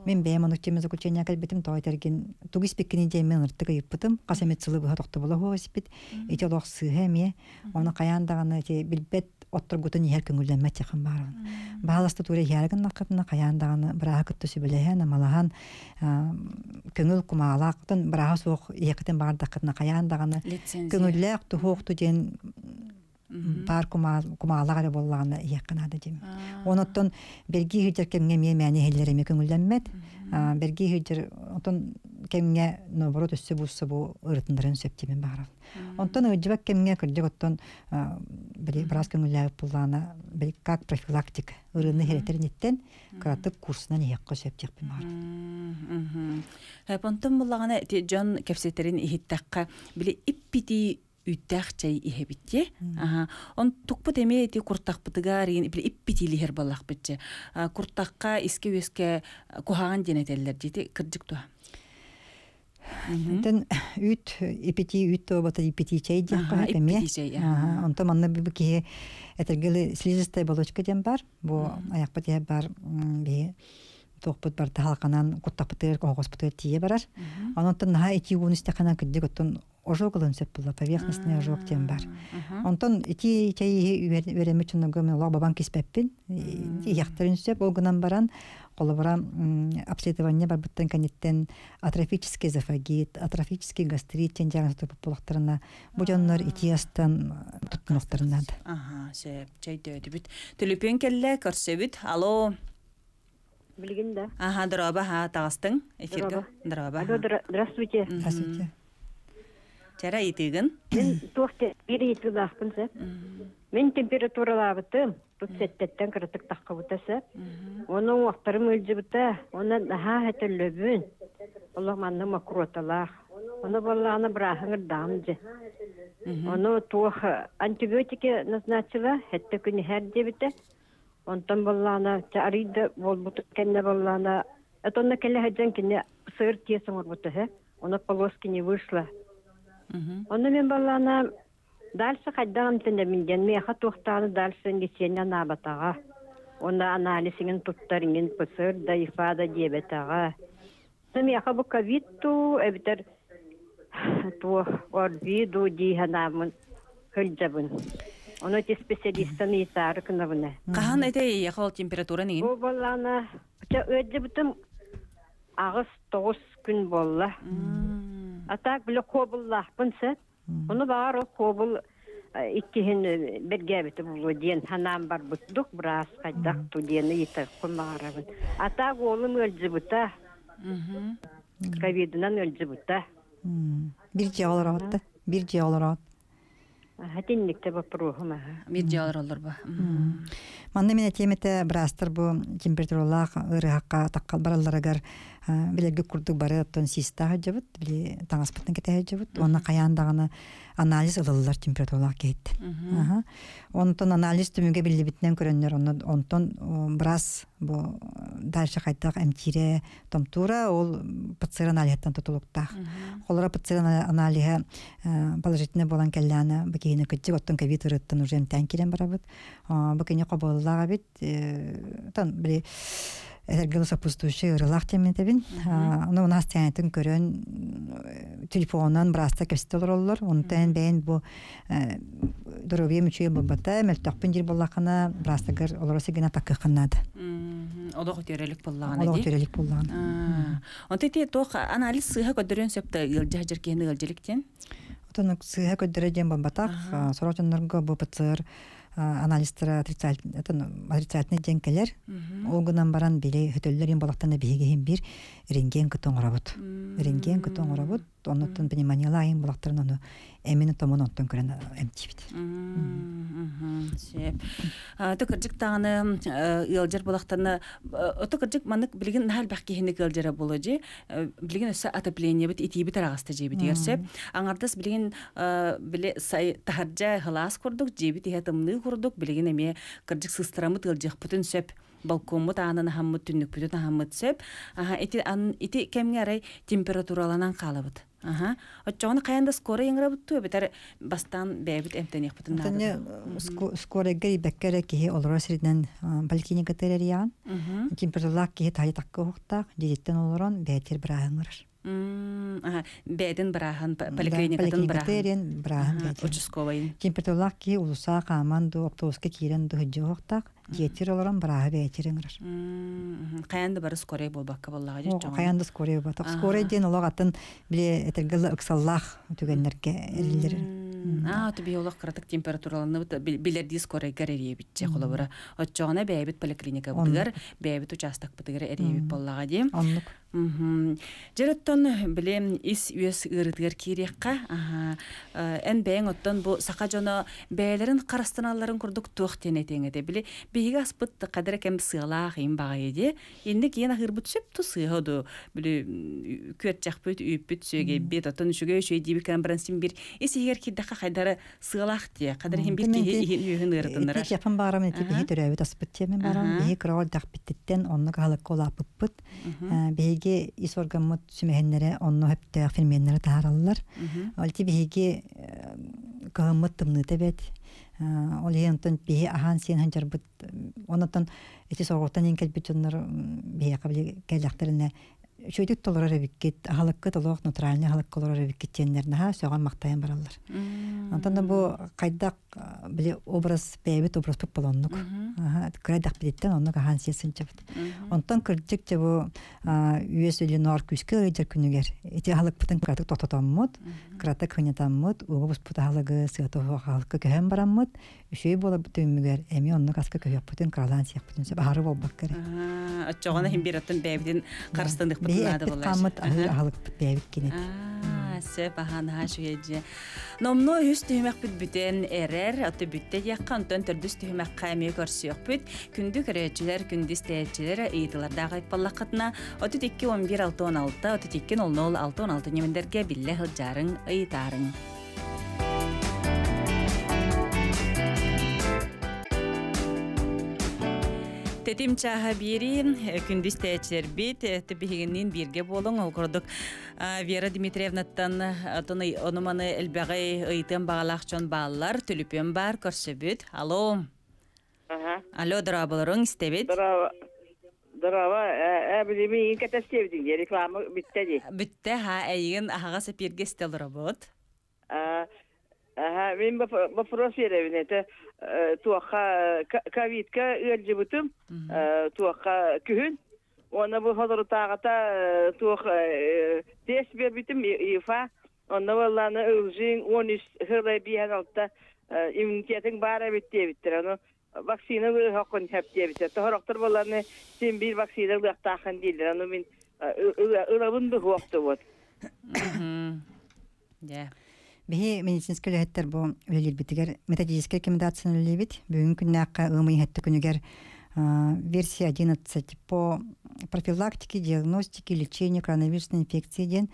S2: Мен бәйм онук чеме заключение калбитим той терген тугис пиккини жемен ыртык ыйыппытым, касамет сылы быха тохто була хооспит, эти олох сыһа эме, оны каян даганы те билбет отторгутун иһэр көңүлләнмәт якын барабын. Бааласта туре иһэргин накытына каян даганы бырааха кытты сүбэлэһэн амалаһан көңүл кумаалаактын бырааха суох иэкитин баардакытына каян даганы көңүллээх тухуохту диэн бар кумаалаах эрэ буоллаҕына иэккин дим. Оноттон берги хыдьар кэмҥэ эмиэ мээни иһэллэр эмиэ көңүллэммэт. Берги хыдьар отон кэмҥэ наоборот өссө буусса бу ырытыннарын сөп тимен баарабын. Онтон ыдьыбак кэмҥэ кырдьык оттон били браас көңүллээбит буллаана били как профилактика ырыны херетериниттен кыратык курсунан иһэккэ сөп тиэхпин баарабын.
S1: Онтон буллаҕана дьон кэпсэтерин иһиттакка били иппити үттэх чай иһэбитте. Аха. Он тукпут эме эти куртакпытыгар били иппитилихер баллахпытчы. Куртакка иске өске кухаган денетеллер дети кырдык туа.
S2: Тен үт ипити үт тобата ипити чай диэн
S1: эме. Ипити чай.
S2: Онто манна бу киһи этергели слизистая оболочка диэн бар. Бу аякпыт бар би тоқпут бар тахалканан куттапытыр когоспутыр тие барар. Онтон наха ити уун истеханан кырдык оттон ожог ылын сөп була, поверхностный ожог диэн бар. Онтон ити чай үөремит чунугу мен олох бабан киспеппин. Иэхтерин сөп ол гынан баран колобура обследование бар буттан каниттен атрофический эзофагит, атрофический гастрит тен диагноз туппулактарына бу дьоннор ити астан туттунуктарынады.
S1: Аха, сөп, чай дөдүбүт. Төлөпүн келле көрсөбүт. Алло.
S5: Билгин да.
S1: Аха, дроба, ха, тагыстың эфирге. Дроба.
S5: Алло, здравствуйте.
S2: Здравствуйте.
S1: Чара итигин.
S5: Мен туохте бир итилаахпын сэ. Мен температуралаабытым. Тут сеттеттен кырытык тахкабыта сэ. Оның уақтарым өлжібіті. Оны наха хәтеллөбүн. Олох манны макроталаах. Оны боллааны бырахыңыр дамжы. Оны туох антибиотики назначила. Хәтте күні хәр дебіті. Онтон боллаана арыйда болбуту кенне боллаана. Этонна келе хаджан кине сыр тиесің орбуты хэ. Оны полоски не вышла. Оны мен баллана дальше хайдагам тенде минден меха тухтааны дальше лечение набатага. Оны анализingen туттарingen пысыр да ифада диабетага. Меха бу ковид ту эбитер ту орбиду диханамын хылжабын. Оны те специалисттан итары кынабына.
S1: Кахан эте яхол температура нигин?
S5: Бу баллана өдө агыс тогуз күн болла. А так биле кобуллахпын сэ. Оны бар ол кобул иккиһин бергәбите булу диэн ханаан барбыттук браас хайдах ту диэни итер кумаарабын. А так олум өлжибута. Ковидынан өлжибута.
S2: Бир же олор отты. Бир же олор от.
S5: Хатинникте бапруһум аха.
S1: Бир же олор олор ба.
S2: Манна мен темете брастар бу температуралаах ырыхакка таккал баралларыгар Билерге курдук бары оттон систа жабыт, били таңаспытын кете жабыт. Онна каян даганы анализ ылылар температуралар кейт. Онтон анализ түмүгө билибитинен көрөннөр, онтон брас бу дальше кайтак эмтире томтура ол ПЦР анализтан тутулуктах. Холора ПЦР аналиһа положительный болан келләне бу кийине кытчык оттон ковид ырыттан уже эмтән кирен барабыт. Бу кине коболлага бит тан били Эргел сопустующий ырылах теменетебин. Оны у нас тянетин көрөн телефонан браста кестелер оллор. Онтан бэйн бу здоровье мүчөй болбата, мөлтөкпүн жир боллакына брастагар олор сигена таккыкыннады.
S1: Олох төрелик боллагана.
S2: Олох төрелик боллагана.
S1: Онты те тох анализ сыха көдөрөн сөптө ылжа жеркени ылжылыктен.
S2: Отон сыха көдөрө дем болбатак, сорочоннорго бу ПЦР анализтара отрицательный ден келер. Ол гынан баран биле хөтөллөр ин балактан биһиге бир рентген кытон орабыт. Рентген кытон орабыт. Оннотон пневмониялайын балактарын ону эмини томун онтон көрөн эмтибит.
S1: Сеп. Ото кырдьык тағаны ыалдьар балактарына ото кырдьык манык билигин нахал бах киһини кылдьара боло же билигин өссө отопление бит итиби тарагаста жебит дигер сеп. Аңардас билигин биле сай тахаржа хылаас курдук жебит иһэ тымныы курдук билигин эме кырдьык сыстырамыт ыалдьыахпытын сөп. Балкоммут аанын ахаммыт түннүкпүтүн ахаммыт сөп. Аха ити ан ити кемге арай температураланан калабыт. Аха. Отчоҕуна кайанда скоро яңырабыт битер бастан бэбит эмтениэхпитин
S2: наада. Скоро гэрибэккэрэ киһи олорор сиринэн поликлиника терериян. Температуралаах киһи тайы таккы уһуктаах, дьиэттэн олорон бээтир бырааһыҥырар.
S1: Аха, бэдин бырааһын, поликлиникатын
S2: бырааһын. Бырааһын бээтин.
S1: Участковайын.
S2: Температуралаах киһи улуса хааман ду автобуска киирэн ду хыдьы уһуктаах, дьиэтир олорон бырааһы бээтир ыҥырар.
S1: Каянда бары скорей болбакка боллаға жет жоғын.
S2: Каянда скорей болбатак. Скорей ден олог атын биле этергелла ыксаллах түгеннерге эрилер.
S1: А, түби олох кыратык температураланы билерди скорей гарерие битче холобура. Отчоғына бэйбит поликлиника бытыгар, бэйбит участок бытыгар эребит боллаға дем.
S2: Оннук.
S1: Жероттон билем ис үес ырытыгар кириэкка, эн бэйэн оттон бу сака жоно бэйэлэрин карастаналларын курдук туох тиэн этиэҥ этэ. Били биһиги аспыт кадара кэм сыалаах им баҕайы дии. Инни киэн ахырбыт сөп ту сыыһа ду. Били күөрчэхпит, үүппүт, сүөгэйбит, оттон үчүгэй үчүгэй диибит кэлэн баран син бир ис иһигэр киирдэххэ хайдара сыалаах дии. Кадара иһин бир киһи иһин үөһүн ыырытыннарар.
S2: Ити япан баарам эти биһи төрөөбүт аспыт тиэмин баарам. Биһи кыраҕар дахпиттиттен оннук аһылыкка улааппыппыт. Биһиги ис органмыт сүмэһиннэре онно хөптөөх ферменнэре таараллар. Ол ти биһиги кыһыммыт тымныыта бэт. Ол иһин онтон биһи аһаан сиэн ханчарбыт. Онотон ити соргуттан иин кэлбит дьоннор биһиэхэ били кэллэхтэринэ үчүгүйдүк толорор эбиккит, аһылыккыт олох натуральный аһылыкка олорор эбиккит тиэннэрин сөҕөн махтайан бараллар. Онтон да бу хайдах били образ бэйэбит образпыт болоннук. Кырайдах билиттен оннук аһаан сиэн сынчабыт. Онтон кырдьык же бу үөс өлүнүар күүскэ ыйдьар күнүгэр ити аһылыкпытын кыратык тохтотоммут, кыратык хынятаммыт, угу буспут аһылыгы сыата аһылыкка көһөн бараммыт, үчүгэй буоларбыт түмүгэр эми оннук аска көһүөхпүтүн кыралаан сиэхпитин сөп аһары болбакка эрэ.
S1: Оччоҕуна иһин бир оттон бэйэбитин харыстаныхпытын
S2: Биһи
S1: наада
S2: эппит
S1: боллаачы.
S2: хааммыт аһыыр аһылыкпыт бэйэбит кинет.
S1: Сөп аһаан аһаа шүһэдьэ. Номно үс түһүмэхпит бүтэн эрэр, аты бүтте диэххэ, онтон төрдүс түһүмэххэ эмиэ көрсүөхпүт. Күндү көрөөччүлэр, күндү истээччилэр ыйытылардаах айппаллаххытына отут икки он бир алты он алты, отут икки нол нол алты он алты ньүмэндэргэ биллэ сылдьаарыҥ, ыйытаарыҥ. Тетим чаха бири, күндүс тәчербит, тибихигиннин бирге болуң, ол курдук Вера Дмитриевнаттан тоны онуманы элбәгәй ыйтын багалах чон бааллар, түлүпөн бар, көрсөбүт. Алло. Алло, дораболоруң истебит.
S8: Дорава. Дорава, э, билими инкетестебдин, реклама битте ди.
S1: Битте, ха, эйген ахага сепирге стел робот.
S8: Аха, мен вопрос беребин, это туаха ковидка өлжүбүтүм, туаха күһүн. Оны бу хозор тагата туах тест бербитим ифа. Оны валланы ылжин он үч хылай биһен алта иммунитетин бара битте биттер. Аны вакцина хакын хәп биттер. Тохороктор балланы сен бир вакцина лыктахын дилер. Аны мен ылабын бу хуакты вот.
S1: Да.
S2: Биһи медицинский үлэһиттэр бу үлэлиирбитигэр методическэй рекомендацияны үлэлиибит. Бүгүн күннээххэ ыамый иһэтти күнүгэр версия одиннадцать по профилактики, диагностики, лечения коронавирусной инфекции диэн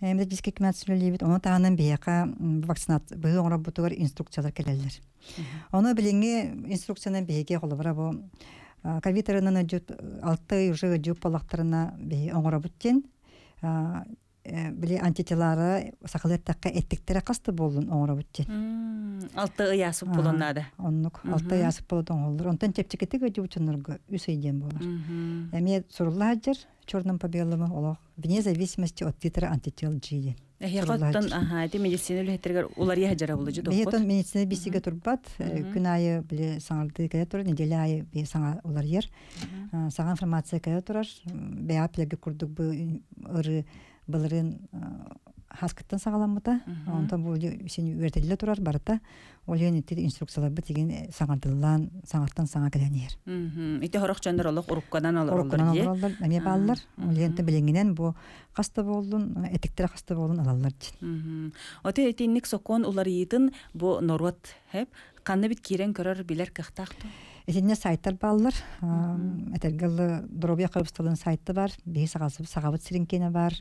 S2: методический көмө сүлэлиибит. Ону таһынан биһиэхэ вакцинация быһыы оҥорорбутугар инструкциялар кэлэллэр. Ону билиҥҥи инструкциянан биһиги холобура бу ковид ырынан ыдьыт алты ый уже ыдьыт буоллахтарына биһи оҥоробут диэн били антителара сахалыы эттэххэ эттиктэрэ хаста буоллун оҥоробут диэн.
S1: Алты ый аасып буолун наада.
S2: Оннук алты ый аасып буолан оҥоһуллар. Онтон чэпчэкитик ыдьыбыт дьоннорго үс ый диэн буолар. Эмиэ сурулла сылдьар черным по белому олох вне зависимости от титра антител G диэн.
S1: Эһиэхэ аха ити медицина үлэһиттэригэр уларыйа сылдьара буолла дьэ
S2: Биһиэтон медицина биссигэ турбат, күн аайы били саҥардыы кэлэ турар, неделя аайы би саҥа уларыйар. Саҥа информация кэлэ турар. Бэйэҕэ билэргэ курдук бу ыры былырыын хаскыттан саҕаламмыта. Онтон бу син үөрэтиллэ турар барыта. Ол иһин ити инструкцияларбыт тигин саҥардыллаан саҥаттан саҥа кэлэн иһэр.
S1: Ити сорох дьоннор олох урукканан олороллор
S2: Уруккунан
S1: дии.
S2: олороллор эмиэ бааллар. Ол иһин билиҥҥинэн бу хаста буоллун, этиктэрэ хаста буоллун ылаллар дьин.
S1: Оте итинник сокуон уларыйыытын бу норуот хэп ханна бит киирэн көрөр билэр кыахтаах дуо?
S2: Итиннэ сайттар бааллар. Этэргэ дылы доруобуйа харыстабылын сайта бар, биһи саҕабыт сирин киэнэ бар,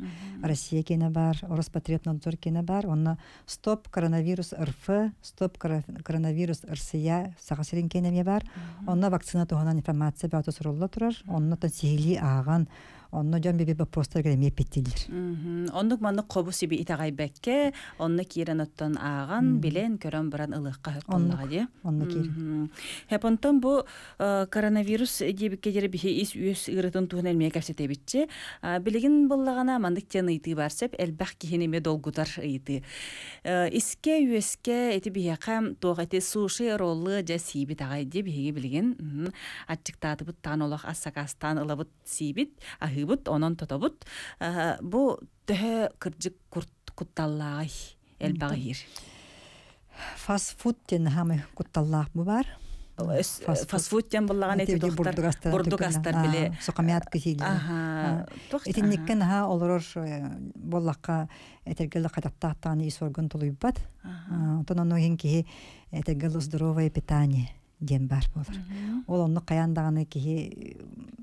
S2: Россия киэнэ бар, Роспотребнадзор киэнэ бар. Онно стоп коронавирус РФ, стоп коронавирус Россия саха сирин киэнэ эмиэ бар. Онно вакцина туһунан информация бөҕөтө сурулла турар. Онно сиһилии ааҕан, онно дьон биби вопростарга эмиэ эппиэттииллэр.
S1: Оннук маннык хобу сиби итэҕэйбэккэ, онно киирэн оттон ааҕан, билэн, көрөн баран ылыахха сөп буоллаҕа дии.
S2: Онно киирэн.
S1: Хэп онтон бу коронавирус диэбиккэ диэри биһи ис үөс ыарытын туһунан эмиэ кэпсэтэбитчи. Билигин буллаҕына маннык диэн ыйытыы бар сөп, элбэх киһини эмиэ долгутар ыйытыы. Искэ үөскэ ити биһиэхэ туох ити суши роллы дьэ сиибит аҕай дии биһиги билигин аччыктаатыбыт таан олох ас сакаастаан ылабыт сиибит, аһыыбыт, онон тотобут. Бу төһө кырдьык кутталлааҕый элбэҕи иһир?
S2: Фастфуд диэн хаамай кутталлаах бу бар.
S1: Фастфуд диэн буллаҕын эти
S2: бурдук
S1: бурдук астар били
S2: сухомят киһилэр. Итинниккен аха олорор буоллахха этэргэлэ хататтаахтааны ис орган тулуйбат. Онтон ону иһин киһи этэргэлэ здоровое питание диэн бар буолар. Ол онно хайаан даҕаны киһи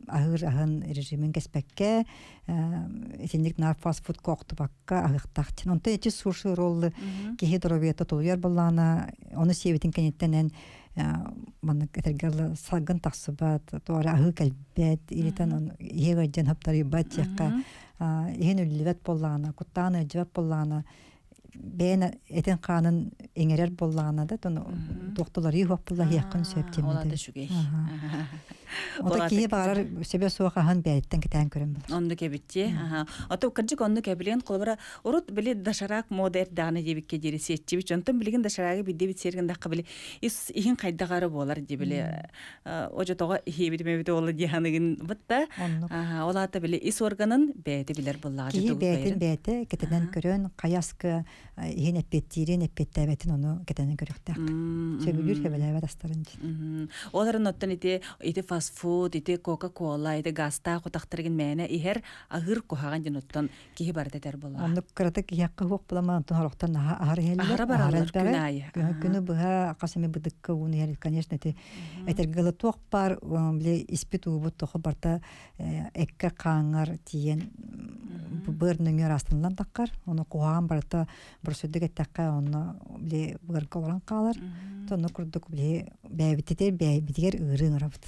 S2: аһыыр аһын режимин кэспэккэ, итинник наар фастфуд коохтубакка аһыахтаах дьин. Онтон эти суши роллы киһи доруобуйата тулуйар буоллаҕына, ону сиэбитин кэнниттэн маннык этэргэ салгын тахсыбат, туора аһыы кэлбэт, илитэн иһэ ыалдьан хаптарыйбат диэххэ, иһин үллүбэт буоллаҕына, куттаан ыалдьыбат буоллаҕына, бэйэн этин хаанын иҥэрэр буоллаҕына да, туохтуларыы хуох буолла иһиэххин сөп диэн.
S1: Ол ата үчүгэй.
S2: Ото киһи баҕарар сөбө суох аһын бэйэттэн кэтээн көрөн булар.
S1: Оннук эбитти. Ото кырдьык оннук эбилиэн холобура урут били доширак мода эрдэҕинэ диэбиккэ диэри сиэччибит. Онтон билигин доширагы биддебит сиэргин дахха били ис иһин хайдах буолар дии били ожотоҕо иһиэбит мебит ола диэханыгын бытта. Ол ата били ис органын бэйэтэ билэр буоллаҕа.
S2: Киһи бэйэтин бэйэтэ кэтэнэн көрөн хайаскы иһин эппиэттиирин эппиэттээбэтин ону кэтэнэн көрүөхтээх. Сөбүлүүр сөбүлээбэт астарын дьин.
S1: Оларын оттон ити ити фастфуд, ити кока-кола, ити газтаах утахтарыгын мээнэ иһэр аһыыр куһаҕан дьин оттон киһи барыта этэр буоллаҕа.
S2: Оннук кыратык иһиэххэ хуох буламан онтон сорохтон аһар иһэллэр.
S1: Аһара бараллар күн аайы.
S2: Күнү быһа хас эмэ быдыкка ууну иһэр, конечно, ити этэргэ дылы туох баар били испит уубут тохо барта эккэ хааңар тиийэн быар нөҥүөр астынылан таххар. Ону куһаҕан барыта боросуйдук эттэххэ онно били быарга олорон хаалар. Онно курдук били бэйэбитигэр бэйэбитигэр ыырыы ыҥырабыт.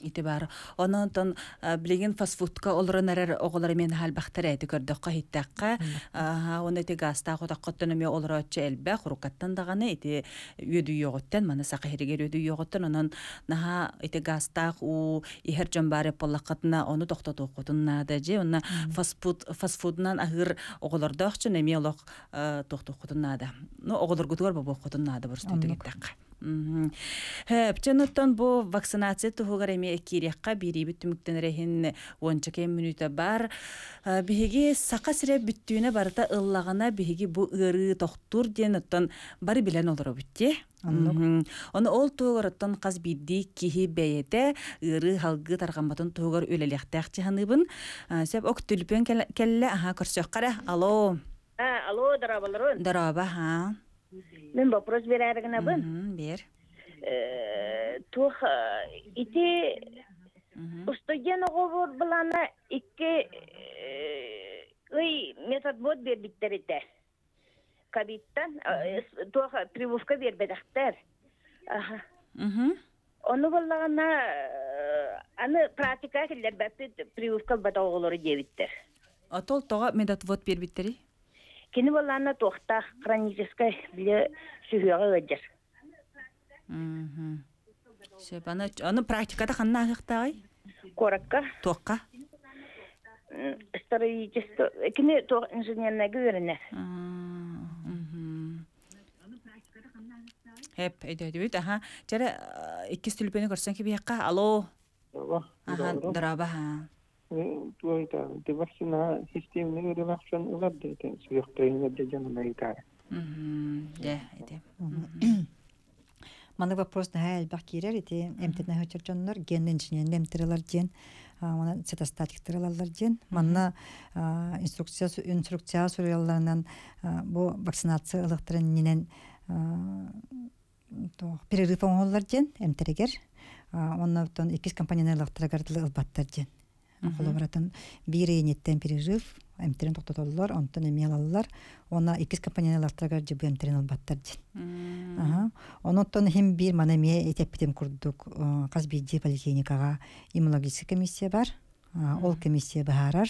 S1: Ити бар. Онон онтон билигин фастфудка олорон эрэр оҕолор эмиэ наһаа элбэхтэр эти көрдөххө иһиттэххэ уонна ити газтаах утаххыттан эмиэ олорооччу элбэх уруккаттан даҕаны ити үөдүйүөҕүттэн маны саха иһиригэр үөдүйүөҕүттэн онон наһаа ити газтаах уу иһэр дьон баар буоллаххытына ону тохтотуоххутун наада дьэ онно фастфуд фастфудунан аһыыр оҕолордоох дьон эмиэ олох тохтуоххутун наада. Ну оҕолоргутугар бобуоххутун наада боростуйдук эттэххэ. Хөп, бу вакцинация туһугар эмиэ киириэххэ биириибит түмүктэн эрэһин уонча кэм мүнүүтэ бар. Биһиги саха сирэ бүттүүнэ барыта ыллаҕына биһиги бу ыарыы тохтуур диэн оттон бары билэн олоробут дии. Ону ол туһугар оттон хас биирдии киһи бэйэтэ ыарыы халгыы тарҕамматын туһугар үлэлиэхтээх дьаһаныыбын. Сөп ок түлүпүөн кэллэ аха көрсүөххэ Алло.
S9: Алло, дорооболорун.
S1: Дорообо, ха.
S9: Мин вопрос берәргенәбен.
S1: Бер.
S9: Туох ити Устудьуон оҕобор былаана икки ый методвод биэрбиттэр этэ. Ковидтан туох прививка биэрбэтэхтэр. Ону буоллаҕына аны практика киллэрбэппит прививка ылбатах оҕолору диэбиттэр.
S1: Отол тоҕо медотвод биэрбиттэрий?
S9: Кини буоллаҕына туохтаах хроническай били сүһүөҕэ ыалдьар.
S1: Сөп, аны, аны практиката ханна ааһыахтааҕый?
S9: Куоракка.
S1: Туохха?
S9: Строительство, кини туох инженернайга үөрэнэр.
S1: Хэп, өйдөөдүбүт, аха. Чэрэ, иккис түлүпүөнү көрсөн кибиэххэ. Алло. Аха, дороба, ха.
S10: Туойта, ти вакцина системни ырылахсан ылар дейтен, сүйөктөйүн эдде жанына ыйтар.
S1: Дэ, ити.
S2: Маны вопрос наһаа элбэх киирэр ити эмтэнэ сылдьар дьоннор ген инженерин эмтэрэлэр диэн уонна цитостатиктар ылаллар диэн. Манна инструкция инструкция суруйалларынан бу вакцинация ылыахтарын иннинэн перерыв оҥоһуллар диэн эмтэригэр уонна оттон иккис компоненты ылыахтарыгар дылы ылбаттар диэн. Холобуратын биир ыйыниттэн перерыв эмтэрин тохтотоллор, онтон эмиэ ылаллар. Уонна иккис компонент ылахтарыгар дьыбы эмтэрин ылбаттар диэн. Аха. Онон хим биир маны эмиэ этеппитим курдук хас биирдии поликлиникаҕа иммунологическай комиссия бар. Ол комиссия быһаарар.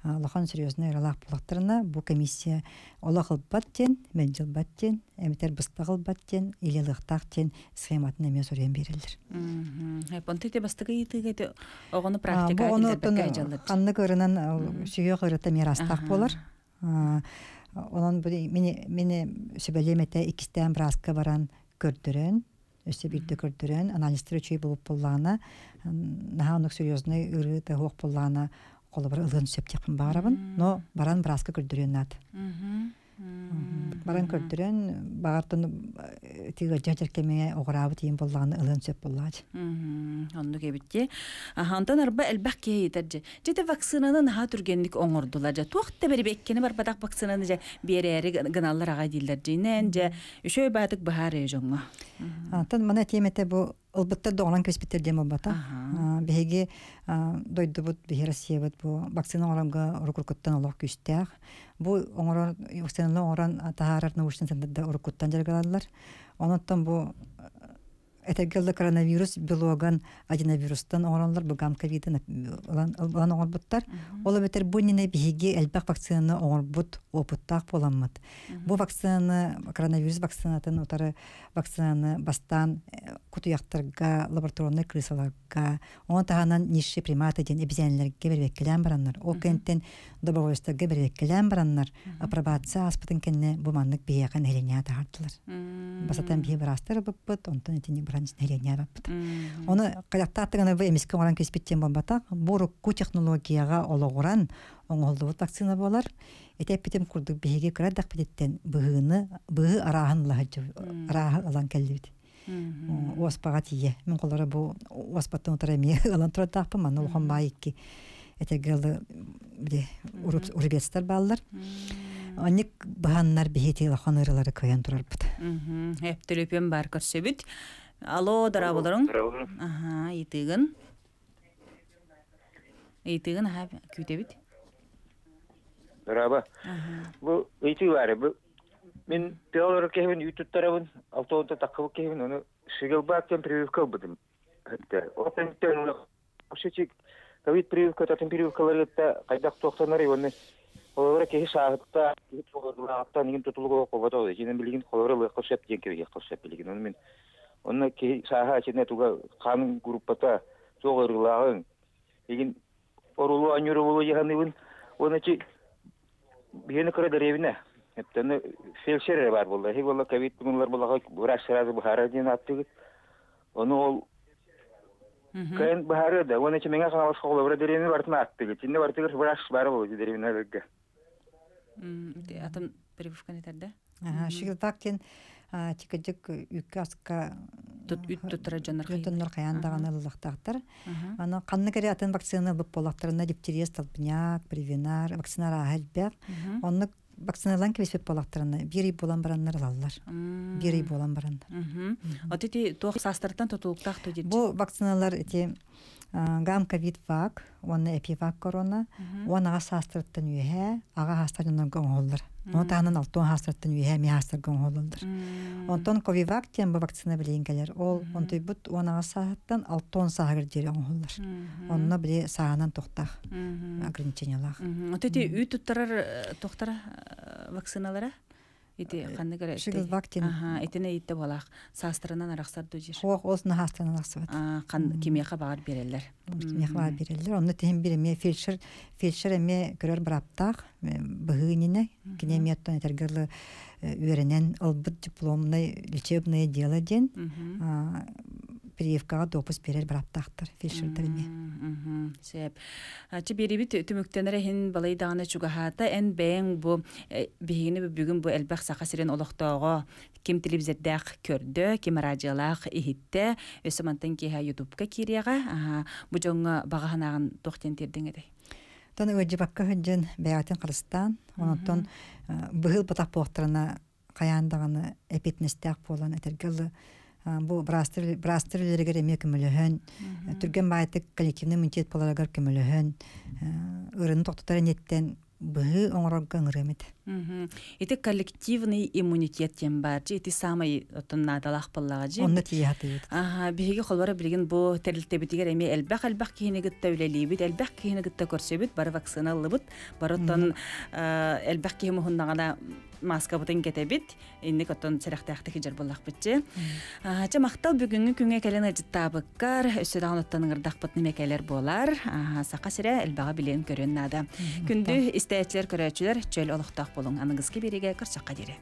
S2: Улахан серьезный ыралаах буоллахтарына, бу комиссия олох ылбат диэн, мэлдьи ылбат диэн, эбэтэр быстах ылбат диэн, или ылыахтаах диэн схематын эмиэ суруйан биэрэллэр.
S1: Онто ити бастакы ыйытыыга ити оҕону практика киллэрбэккэ дьаллар.
S2: Ханнык ырынан сүһүөх ырыта эмиэ араастаах буолар. Онон бу мини мини сүбэлиэм этэ иккистээн бырааска баран көрдөрөн, өссө биирдэ көрдөрөн, анализтар үчүгэй буолуп буоллаҕына, наһаа оннук серьезный ырыы туох буоллаҕына, холобур ылыан сөп диэхпин баҕарабын, но баран бырааска көрдөрүөн наада. Баран көрдөрөн, баҕартан тыга дьэркэмиҥэ оҕураабыт иин буоллаҕына ылыан сөп буоллаҕа.
S1: Оннук эбит. Онтон арба элбэх киһи ыйытар дьэ. Дьэ вакцинаны наһаа түргэнник оҥордулар дьэ. Туох да бэрибэккини барбатах вакцинаны дьэ биэрээри гыналлар аҕай дииллэр дьинэн дьэ үчүгэй баатык баһаар дьоҥҥо.
S2: Антон мана тиэмэтэ бу ылбыттар доҕолон кэспиттэр диэн буолбата. Биһиги дойдубут, биһи Россиябыт бу вакцина оҥоронго уруккуттан олох күүстээх. Бу оҥорон вакцинаны оҥорон таһаарар научный центрда уруккуттан дьарыгалаллар. Онон бу этэргэллэ коронавирус белоган аденовирустан оҥороллор, бу гам-ковидын ылан оҥорбуттар. Ол эбэтэр бу иннинэ биһиги элбэх вакцинаны оҥорбут опыттаах буоламмыт. Бу вакцинаны, коронавирус вакцинатын утары вакцинаны бастаан кутуйахтарга, лабораторный крысаларга, ону таһынан низшие приматы диэн эбизээннэргэ бэрбэккэлээн бараннар, ол кэнтэн добровольцтарга бэрбэккэлээн бараннар, апробация ааспытын кэннэ бу маннык биһиэхэ нэһилиэнньэҕэ таһаардылар. Басатан биһи быраастар ылбыппыт, онтон итини баран нэһилиэнньэҕэ баппыт. Ону кадактааттыгана бу эмискэ оҥорон кэспит диэн буолбатах, бу урукку технологияҕа олоҕуран оҥоһуллубут вакцина буолар. Ити эппитим курдук биһиги кыра эрдэхпититтэн быһыыны, быһыы арааһын арааһы ылан кэллибит. Уоспаҕа тиийэ. Мин холоро бу уоспаттан утара эмиэ ылан турардаахпын, манна улахан баай икки этэргэ били урубецтар бааллар. Анник быһаннар биһи улахан ырылары кыайан турарбыт.
S1: Эп төлөпүөн бар көрсөбүт. Алло, дорооболоруҥ. Аха, ыйытыгын. Ыйытыгын, аха, күүтэбит.
S11: Дорообо. Бу ыйытыы баары. Бу мин теолор киһибин үй туттарабын, алтоонто таккыбыт киһибин, ону шигелбаактан прививка ылбытым. Отен ковид прививка, татын прививкаларытта кайдах туохтанар оны холобура киһи сааһытта, киһи туолугурааттан игин тутулугу кобото, жинен билигин холобура лыакка сөп диэн киһи сөп билигин. Оны мен онно киһи сааһа ичине туга хаанын группата туох ырылааҕын игин орулу аньуру болу жаһаныбын, оны чи биһини кыра деревне эптени фельдшер бар болду. Хи болла ковид мунлар боллага врач сразу бахара диэн аттыгыт. Ону ол кайын бахары да, оны чи меңе хаалыс холобура деревне бартына аттыгыт. Чинде бартыгыр врач бар болду деревнелерге.
S1: Атын прививканы терде.
S2: Ага, шигилтак тикэдик үккэ аска
S1: туттара дьоннор
S2: дьоннор хайаан даҕаны ыллахтаахтар. Аны ханнык эрэ атын вакцина ылбыт буоллахтарына дифтерия, столбняк, превенар, вакцина арааһа элбэх. Оннук вакциналан кэбиспит буоллахтарына биир ый буолан бараннар ылаллар. Биир ый буолан бараннар.
S1: От ити туох саастартан тутулуктаах ту
S2: Бу вакциналар ити Гам ковид вак, уонна эпивак корона, уон аҕа саастарыттан үөһэ, аҕа хаастар дьоннорго оҥоһуллар. Ону таһынан алтуон хаастарыттан үөһэ эмиэ хаастарга оҥоһуллаллар. Онтон ковивак диэн бу вакцина билигин кэлэр. Ол онтуйбут уон аҕа сааһыттан алтуон сааһыгар диэри оҥоһуллар. Онно били сааһынан тохтаах ограничениялаах.
S1: Ото ити үүт туттарар тохтара вакциналара? Ити ханнык эрэ
S2: Шиглвак диэн.
S1: Аха, итини итте болаах саастарынан арахсар дуу дьир.
S2: Хуох ол саастарынан арахсыбат.
S1: Қан кимиэхэ баҕар биэрэллэр.
S2: Кимиэхэ баҕар биэрэллэр. Онно тиһин бир эмиэ фельдшер фельдшер эмиэ көрөр быраптаах быһыы иннинэ кини эмиэ оттон этэргэ үөрэнэн ылбыт дипломнай лечебное дело диэн прививкаҕа допуск биэрэр быраптаахтар фельдшердэр эмиэ.
S1: Сөп. Чы биэрибит түмүктэнэр иһин балай даҕаны чугаһаата эн бэйэҥ бу биһигини бүгүн бу элбэх саха сирин олохтооҕо ким телевизордаах көрдө, ким радиолаах иһиттэ, өссө мантан киэһэ ютубка киириэҕэ. Бу дьоҥҥо баҕа санааҕын туох диэн тиэрдиҥ этэй?
S2: Тон ыалдьыбакка сылдьан бэйэҕитин харыстаан, онтон быһыл батах буолтарына хайаан даҕаны эпитнестээх буолан этэргэ ылы бу браастар браастар үлэлэригэр эмиэ көмөлөһөн, түргэн баайтык коллективный иммунитет буоларыгар көмөлөһөн, ырыны тохтотор ниэттэн быһыы оҥорорго ыҥырыам этэ.
S1: Ити коллективный иммунитет диэн баар дьи, ити саамай оттон наадалаах буоллаҕа дьи.
S2: Онно тиийэ сатыыбыт.
S1: Аха, биһиги холборо билигин бу тэрилтэбитигэр эмиэ элбэх-элбэх киһини кытта үлэлиибит, элбэх киһини кытта көрсөбүт, бары вакцина ыллыбыт, бары оттон элбэх киһи муһуннаҕына маскабытын кэтэбит, инник оттон сэрэхтээхтик дьар буоллахпытчы. Чэ махтал бүгүҥҥү күҥҥэ кэлэн ыдьыттаабыккар, өссө даҕаны оттон ыҥырдахпыт нимэ кэлэр буолар. Саха сирэ элбэҕи билиэн көрүөн наада. Күндү истээччилэр, көрөөччүлэр, чөл олохтоох болуҥ. Аныгыски биэриигэ көрсөххө диэри.